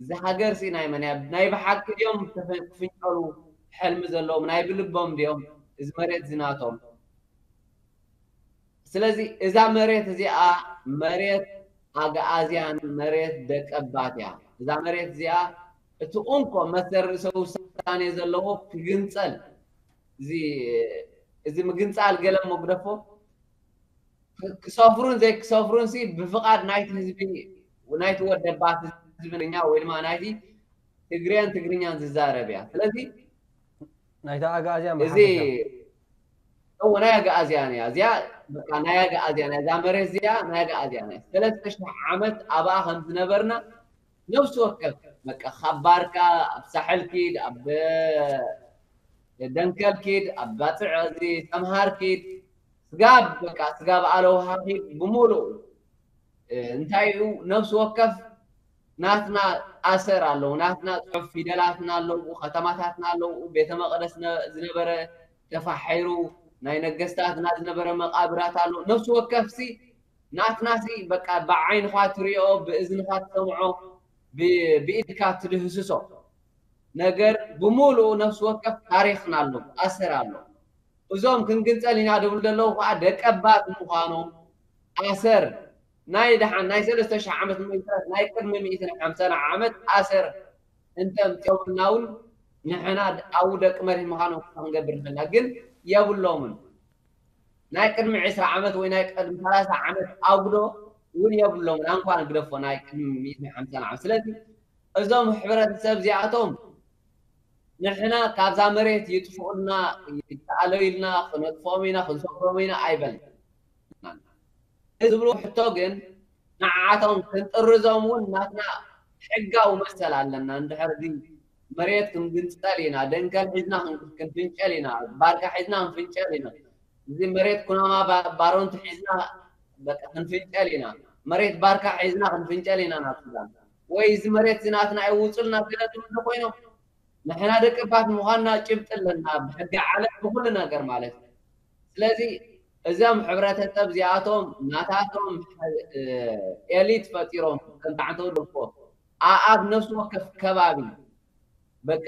እዚ ሃገር ሲ ናይ መን እያ ናይ ብሓቂ ድዮም ክፍንጨሉ ሕልሚ ዘለዎም ናይ ብልቦም ድዮም እዚ መሬት እዚ ናቶም ስለዚ እዛ መሬት እዚኣ መሬት ኣግኣዝያን መሬት ደቀባት እያ። እዛ መሬት እዚኣ እቲ እንኮ መሰል ርእሰ ውሳኔ ዘለዎ ክግንፀል እዚ ምግንፃል ገለ መጉደፎ ክሰፍሩን ዘይክሰፍሩን ሲ ብፍቓድ ናይቲ ህዝቢ ናይቲ ወደባት ህዝቢ ትግርኛ ወይ ድማ ናይቲ ትግሬን ትግርኛን ዝዛረብ እያ። ስለዚ ናይታ ኣግኣዝያን እዚ እዎ ናይ ኣግኣዝያን እያ እዚኣ በቃ ናይ ኣግኣዝያን እያ፣ እዛ መሬት እዚኣ ናይ ኣግኣዝያን እያ። ሰለስተ ሽሕ ዓመት ኣብኣ ከም ዝነበርና ነፍሲ ወከፍ በቃ ካብ ባርካ ኣብ ሳሕል ኪድ፣ ኣብ ደንከል ኪድ፣ ኣብ ባፅዕ እዚ ሰምሃር ኪድ፣ ስጋብ በቃ ስጋብ ኣለውሃ ኪድ ብምሉኡ እንታይ እዩ ነፍሲ ወከፍ ናትና ኣሰር ኣለዉ፣ ናትና ጽሑፍ ፊደላትና ኣለዉ፣ ከተማታትና ኣለዉ፣ ቤተ መቕደስ ዝነበረ ተፋሒሩ ናይ ነገስታትና ዝነበረ መቓብራት ኣሎ። ነፍሲ ወከፍሲ ናትናሲ በቃ ብዓይንኻ ትሪኦ፣ ብእዝንኻ ትሰምዖ፣ ብኢድካ ትድህስሶ ነገር ብምሉኡ ነፍሲ ወከፍ ታሪኽና ኣሎ፣ ኣሰር ኣሎ። እዞም ክንግንጸል ኢና ድብሉ ዘለዉ ከዓ ደቀባት ምዃኖም ኣሰር ናይ ደሓን ናይ ሰለስተ ሽሕ ዓመት ምእንታት ናይ ቅድሚ ሚእትን ሓምሳን ዓመት ኣሰር እንተምፅኦምና እውን ንሕና ኣብኡ ደቂ መሬት ምዃኖም ክንገብር ንኽእልና ግን የብሎምን። ናይ ቅድሚ ዕስራ ዓመት ወይ ናይ ቅድሚ ሰላሳ ዓመት ኣጉዶ እውን የብሎምን። ኣንኳ ንግደፎ ናይ ቅድሚ ሚእትን ሓምሳን ዓመት። ስለዚ እዞም ሕብረተሰብ እዚኣቶም ንሕና ካብዛ መሬት ይጥፍኡልና፣ ይተኣለዩልና፣ ክነጥፍኦም ኢና፣ ክንሰግሮም ኢና ኣይበልናን። ዝብሉ ሕቶ ግን ንዓቶም ክንጥርዞም እውን ናትና ሕጋዊ መሰል ኣለና። እንድሕር እዚ መሬት ክንግንፀል ኢና፣ ደንከል ሒዝና ክንፍንጨል ኢና፣ ባርካ ሒዝና ክንፍንጨል ኢና፣ እዚ መሬት ኩናማ ባሮንት ሒዝና በቃ ክንፍንጨል ኢና፣ መሬት ባርካ ሒዝና ክንፍንጨል ኢና ናብ ሱዳን፣ ወይ እዚ መሬት እዚ ናትና ይውፁልና ገለ ዝብሉ ኮይኖም ንሕና ደቀባት ምዃንና ጭብጢ ኣለና፣ ብሕጊ ዓለም ብኩሉ ነገር ማለት እዩ። ስለዚ እዞም ሕብረተሰብ እዚኣቶም ናታቶም ኤሊት ፈጢሮም ከምታዕተው ደኮ ኣብ ነፍሲ ወከፍ ከባቢ በቃ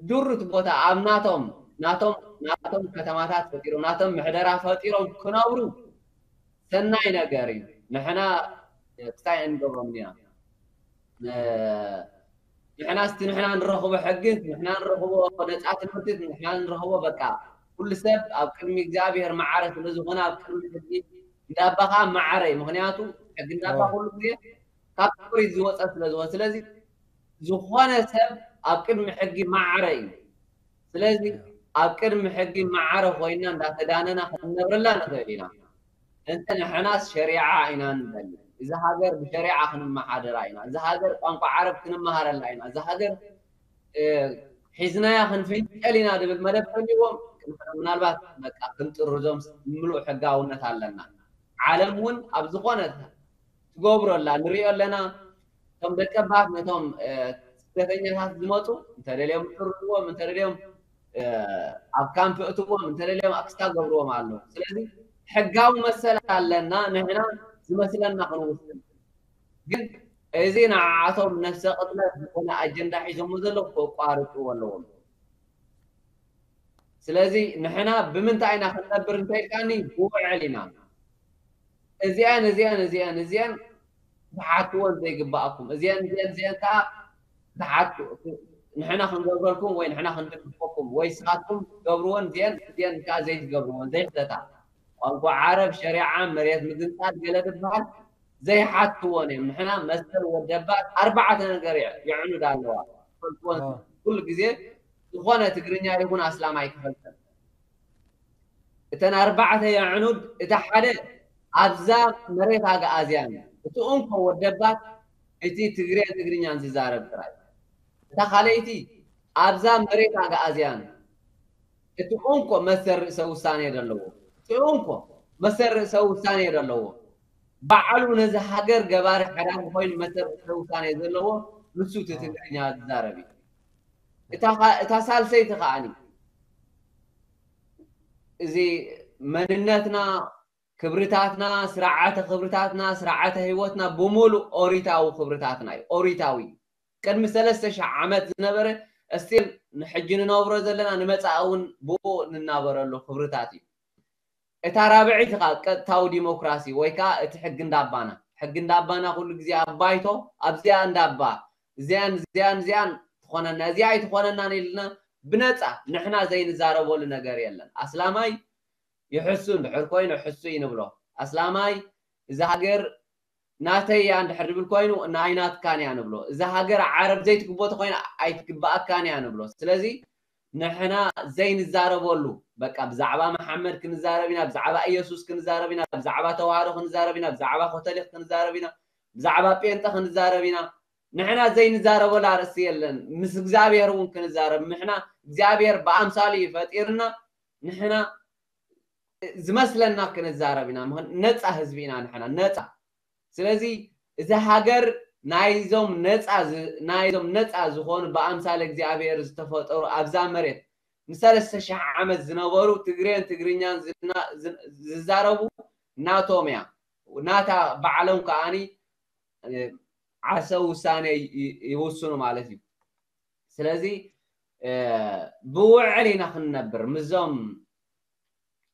ዱር እቲ ቦታ ኣብ ናቶም ናቶም ናቶም ከተማታት ፈጢሮም ናቶም ምሕደራ ፈጢሮም ክነብሩ ሰናይ ነገር እዩ። ንሕና ክሳይ እንገብሮም ኢና። ንሕና ስቲ ንሕና ንረኽቦ ሕጊ ንሕና ንረኽቦ ነፃ ትምህርቲ ንሕና ንረኽቦ በቃ ኩሉ ሰብ ኣብ ቅድሚ እግዚኣብሔር ማዕረ ስለ ዝኾነ ኣብ ቅድሚ ሕጊ እንዳባ ከዓ ማዕረ እዩ። ምክንያቱ ሕጊ እንዳባ ኩሉ ግዜ ካብ ኦሪት ዝወፀ ስለ ዝኾነ ስለዚ ዝኾነ ሰብ ኣብ ቅድሚ ሕጊ ማዕረ እዩ። ስለዚ ኣብ ቅድሚ ሕጊ ማዕረ ኮይና እንዳተዳነና ክንነብረላ ንኽእል ኢና። እንተ ንሕናስ ሸሪዓ ኢና ንደሊ። እዚ ሃገር ብሸሪዓ ክንመሓደራ ኢና። እዚ ሃገር ቋንቋ ዓረብ ክንመሃረላ ኢና። እዚ ሃገር ሒዝናያ ክንፍንጨል ኢና ድብል መደብ ተልዎም ምናልባት በቃ ክንጥርዞም ምሉእ ሕጋውነት ኣለና። ዓለም እውን ኣብ ዝኾነ ትገብሮ ኣላ ንሪኦ ኣለና። እቶም ደቀባት ነቶም ስደተኛታት ዝመፁ እንተደልዮም ጥርዎም እንተደልዮም ኣብ ካምፕ እትዎም እንተደልዮም ኣክስታ ገብርዎም ኣለዉ። ስለዚ ሕጋዊ መሰል ኣለና ንሕና ዝመስለና ክንውስን። ግን እዚ ንዓዓቶም ነፍሰ ቅትለት ዝኾነ ኣጀንዳ ሒዞሞ ዘለዉ ከቋርፅዎ ኣለዎም። ስለዚ ንሕና ብምንታይ ኢና ክንነብር እንተኢልካኒ ብውዕል ኢና። እዚአን እዚአን እዚአን እዚአን ትሓትወን ዘይግባኣኩም እዚአን እዚአን እዚአን ከዓ ትሓቱ ንሕና ክንገብረልኩም ወይ ንሕና ክንድግፈኩም ወይ ስኻትኩም ትገብርወን እዚአን እዚአን ከዓ ዘይትገብርወን ዘይሕተታ ቋንቋ ዓረብ ሸሪዓ መሬት ምግንፃል ገለ ዝበሃል ዘይሓትወን እዮም። ንሕና መሰል ወደባት ኣርባዕተ ነገር የዕኑድ ኣለዋ ፈልጥወን ኩሉ ግዜ ዝኾነ ትግርኛ ይኹን ኣስላማይ ክፈልጠን እተን ኣርባዕተ የዕኑድ እታ ሓደ ኣብዛ መሬት ኣግኣዝያን እቲ እንኮ ወደባት እቲ ትግሬ ትግርኛን ዝዛረብ ጥራይ እታ ካልኣይቲ ኣብዛ መሬት ኣግኣዝያን እቲ እንኮ መሰል ርእሰ ውሳኔ ዘለዎ እቲ እንኮ መሰል ርእሰ ውሳኔ ዘለዎ ባዕሉ ነዚ ሃገር ገባሪ ሓዳር ኮይኑ መሰል ርእሰ ውሳኔ ዘለዎ ንሱ እቲ ትግርኛ ዝዛረብ እዩ። እታ ሳልሰይቲ ከዓኒ እዚ መንነትና ክብርታትና ስርዓተ ክብርታትና ስርዓተ ህይወትና ብምሉእ ኦሪታዊ ክብርታትና እዩ ኦሪታዊ ቅድሚ ሰለስተ ሽሕ ዓመት ዝነበረ እስቲል ንሕጂ ንነብሮ ዘለና ንመፃኢ እውን ብኡ ንናበረሉ ክብርታት እዩ እታ ራብዒት ከዓ ቀጥታዊ ዲሞክራሲ ወይ ከዓ እቲ ሕጊ እንዳባና ሕጊ እንዳባና ኩሉ ግዜ ኣብ ባይቶ ኣብዚኣ እንዳባ እዚኣን እዚኣን እዚኣን ትኾነና እዚኣ ኣይትኾነናን ኢልና ብነፃ ንሕና ዘይንዛረበሉ ነገር የለን ኣስላማይ ይሕሱ እንድሕር ኮይኑ ሕሱ እዩ ንብሎ ኣስላማይ እዛ ሃገር ናተይ እያ እንድሕር ድብል ኮይኑ ኣይናትካን እያ ንብሎ እዛ ሃገር ዓረብ ዘይትግቦ ተኮይና ኣይትግባኣካን እያ ንብሎ ስለዚ ንሕና ዘይንዛረበሉ፣ በቃ ብዛዕባ መሓመድ ክንዛረብ ኢና፣ ብዛዕባ ኢየሱስ ክንዛረብ ኢና፣ ብዛዕባ ተዋህዶ ክንዛረብ ኢና፣ ብዛዕባ ኮተሊክ ክንዛረብ ኢና፣ ብዛዕባ ጴንጠ ክንዛረብ ኢና። ንሕና ዘይንዛረበሉ ኣርእስቲ የለን። ምስ እግዚኣብሔር እውን ክንዛረብ፣ ንሕና እግዚኣብሔር ብኣምሳሉ እዩ ፈጢርና። ንሕና ዝመስለና ክንዛረብ ኢና። ምኽን-፣ ነፃ ህዝቢ ኢና ንሕና፣ ነፃ። ስለዚ እዚ ሃገር ናይዞም ነፃ ዝ-፣ ናይዞም ነፃ ዝኾኑ ብኣምሳለ እግዚኣብሔር ዝተፈጠሩ ኣብዛ መሬት ንሰለስተ ሺሕ ዓመት ዝነበሩ ትግሬን ትግርኛን ዝና-፣ ዝ-፣ ዝዛረቡ ናቶም እያ። ናታ ባዕሎም ከኣኒ፣ እ፣ ዓርሰ ውሳኔ ይ-፣ ይ-፣ ይውስኑ ማለት እዩ። ስለዚ፣ እ፣ ብውዕል ኢና ክንነብር። ምዞም፣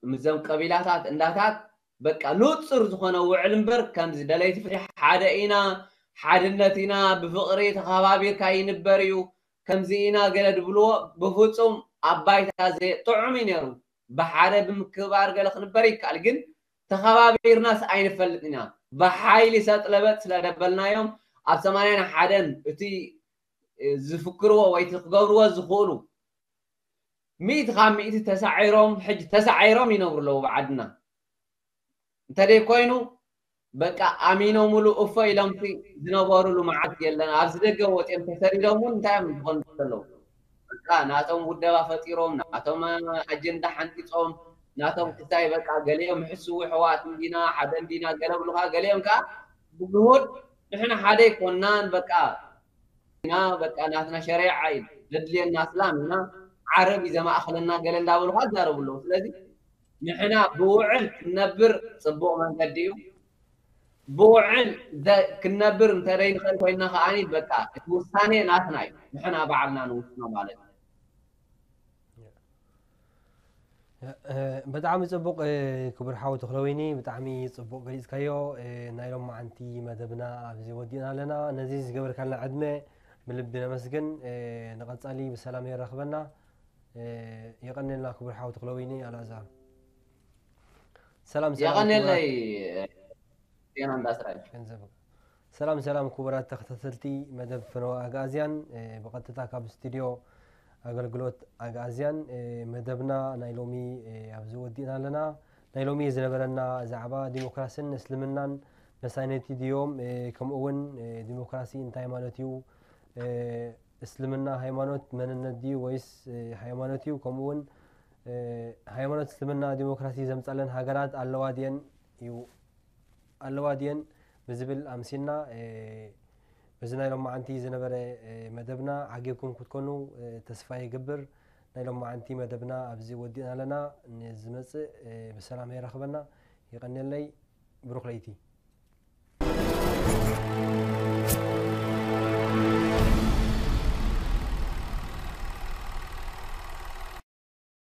ምዞም ቀቢላታት እንዳታት በቃ ንጹር ዝኾነ ውዕል እምበር ከምዚ ደለይቲ ፍትሒ ሓደ ኢና፣ ሓድነት ኢና፣ ብፍቕሪ ተኸባቢርካ ይንበር እዩ፣ ከምዚ ኢና ገለ ድብልዎ ብፍጹም ኣብ ባይታ ዘየ-፣ ጥዑም እዩ ነይሩ። ብሓደ ብምክብባር ገለ ክንበር ይከኣል፣ ግን ተኸባቢርናስ ኣይንፈልጥን ኢና። ብሓይሊ ሰጥ ለበጥ ስለ ደበልናዮም ኣብ ሰማንያን ሓደን እቲ ዝፍክርዎ ወይ እቲ ክገብርዎ ዝኽእሉ ሚእቲ ካብ ሚእቲ ተሳዒሮም፣ ሕጂ ተሳዒሮም ይነብሩ ኣለዉ ብዓድና። እንተደይ ኮይኑ በቃ ኣሚኖምሉ እፎ ኢሎምሲ ዝነበሩሉ መዓልቲ የለን። ኣብዚ ደገ ወፂኦም ተሰዲዶም እውን እንታይ እዮም ዝኾኑ ዘለዉ? በቃ ናቶም ውደባ ፈጢሮም፣ ናቶም ኣጀንዳ ሓንፂፆም፣ ናቶም ክሳይ በቃ ገሊኦም ሕስዉ ሕዋት እንዲና፣ ሓደ እንዲና ገለ ብሉኻ፣ ገሊኦም ከዓ ብግሁድ ንሕና ሓደ ኣይኮናን፣ በቃ ኢና፣ በቃ ናትና ሸሪዓ እዩ ዘድልየና፣ እስላም ኢና፣ ዓረብ እዩ ዘማእኸለና ገለ እንዳበሉኻ ይዛረቡ ኣለዉ። ስለዚ ንሕና ብውዕል ክንነብር ፅቡቕ መንገዲ እዩ። ብውዕል ዘ-፣ ክንነብር እንተደይ ንኽእል ኮይንና ከዓኒ በቃ እቲ ውሳኔ ናትና እዩ፣ ንሕና ባዕልና ንውስኖ ማለት እዩ። እ፣ ብጣዕሚ ጽቡቕ፣ እ፣ ክቡር ሓው ተኽለወይኒ፣ ብጣዕሚ ጽቡቕ ገሊጽካዮ። እ፣ ናይ ሎማዓንቲ መደብና ኣብዚ ወዲእና ኣለና። ነዚ ዝገበርካልና ዕድመ ብልቢ ነመስግን። እ፣ ንቐጻሊ ብሰላም የራኽበና። እ፣ የቐንየልና ክቡር ሓው ተኽለወይኒ ኣልኣዛር። ሰላም ሰላም የቐንየለይ ክቡራት ዜና እንዳስራይ። ገንዘብ። ሰላም ሰላም ክቡራት ተኸታተልቲ መደብ ፈነወ ኣግኣዝያን፣ እ፣ ብቐጥታ ካብ ስቱድዮ ኣገልግሎት ኣግኣዝያን፣ እ፣ መደብና ናይ ሎሚ፣ እ፣ ኣብዚ ወዲእና ኣለና። ናይ ሎሚ ዝነበረና ዛዕባ ዲሞክራስን እስልምናን መሳነይቲ ድዮም፣ እ፣ ከምኡ እውን፣ እ፣ ዲሞክራሲ እንታይ ማለት እዩ፣ እ፣ እስልምና ሃይማኖት መንነት ድዩ ወይስ፣ እ፣ ሃይማኖት እዩ፣ ከምኡ እውን፣ እ፣ ሃይማኖት እስልምና ዲሞክራሲ ዘምጻለን ሃገራት ኣለዋ ድየን እዩ፣ ኣለዋ ድየን ብዝብል ኣምሲልና፣ እ፣ በዚ ናይ ሎማዓንቲ ዝነበረ፣ እ፣ መደብና ዓጊብኩም ክትኮኑ፣ እ፣ ተስፋ ይገብር። ናይ ሎማዓንቲ መደብና ኣብዚ ወዲእና ኣለና። ንዝመጽእ፣ እ፣ ብሰላም የራኽበና። ይቐንየለይ። ብሩኽ ለይቲ።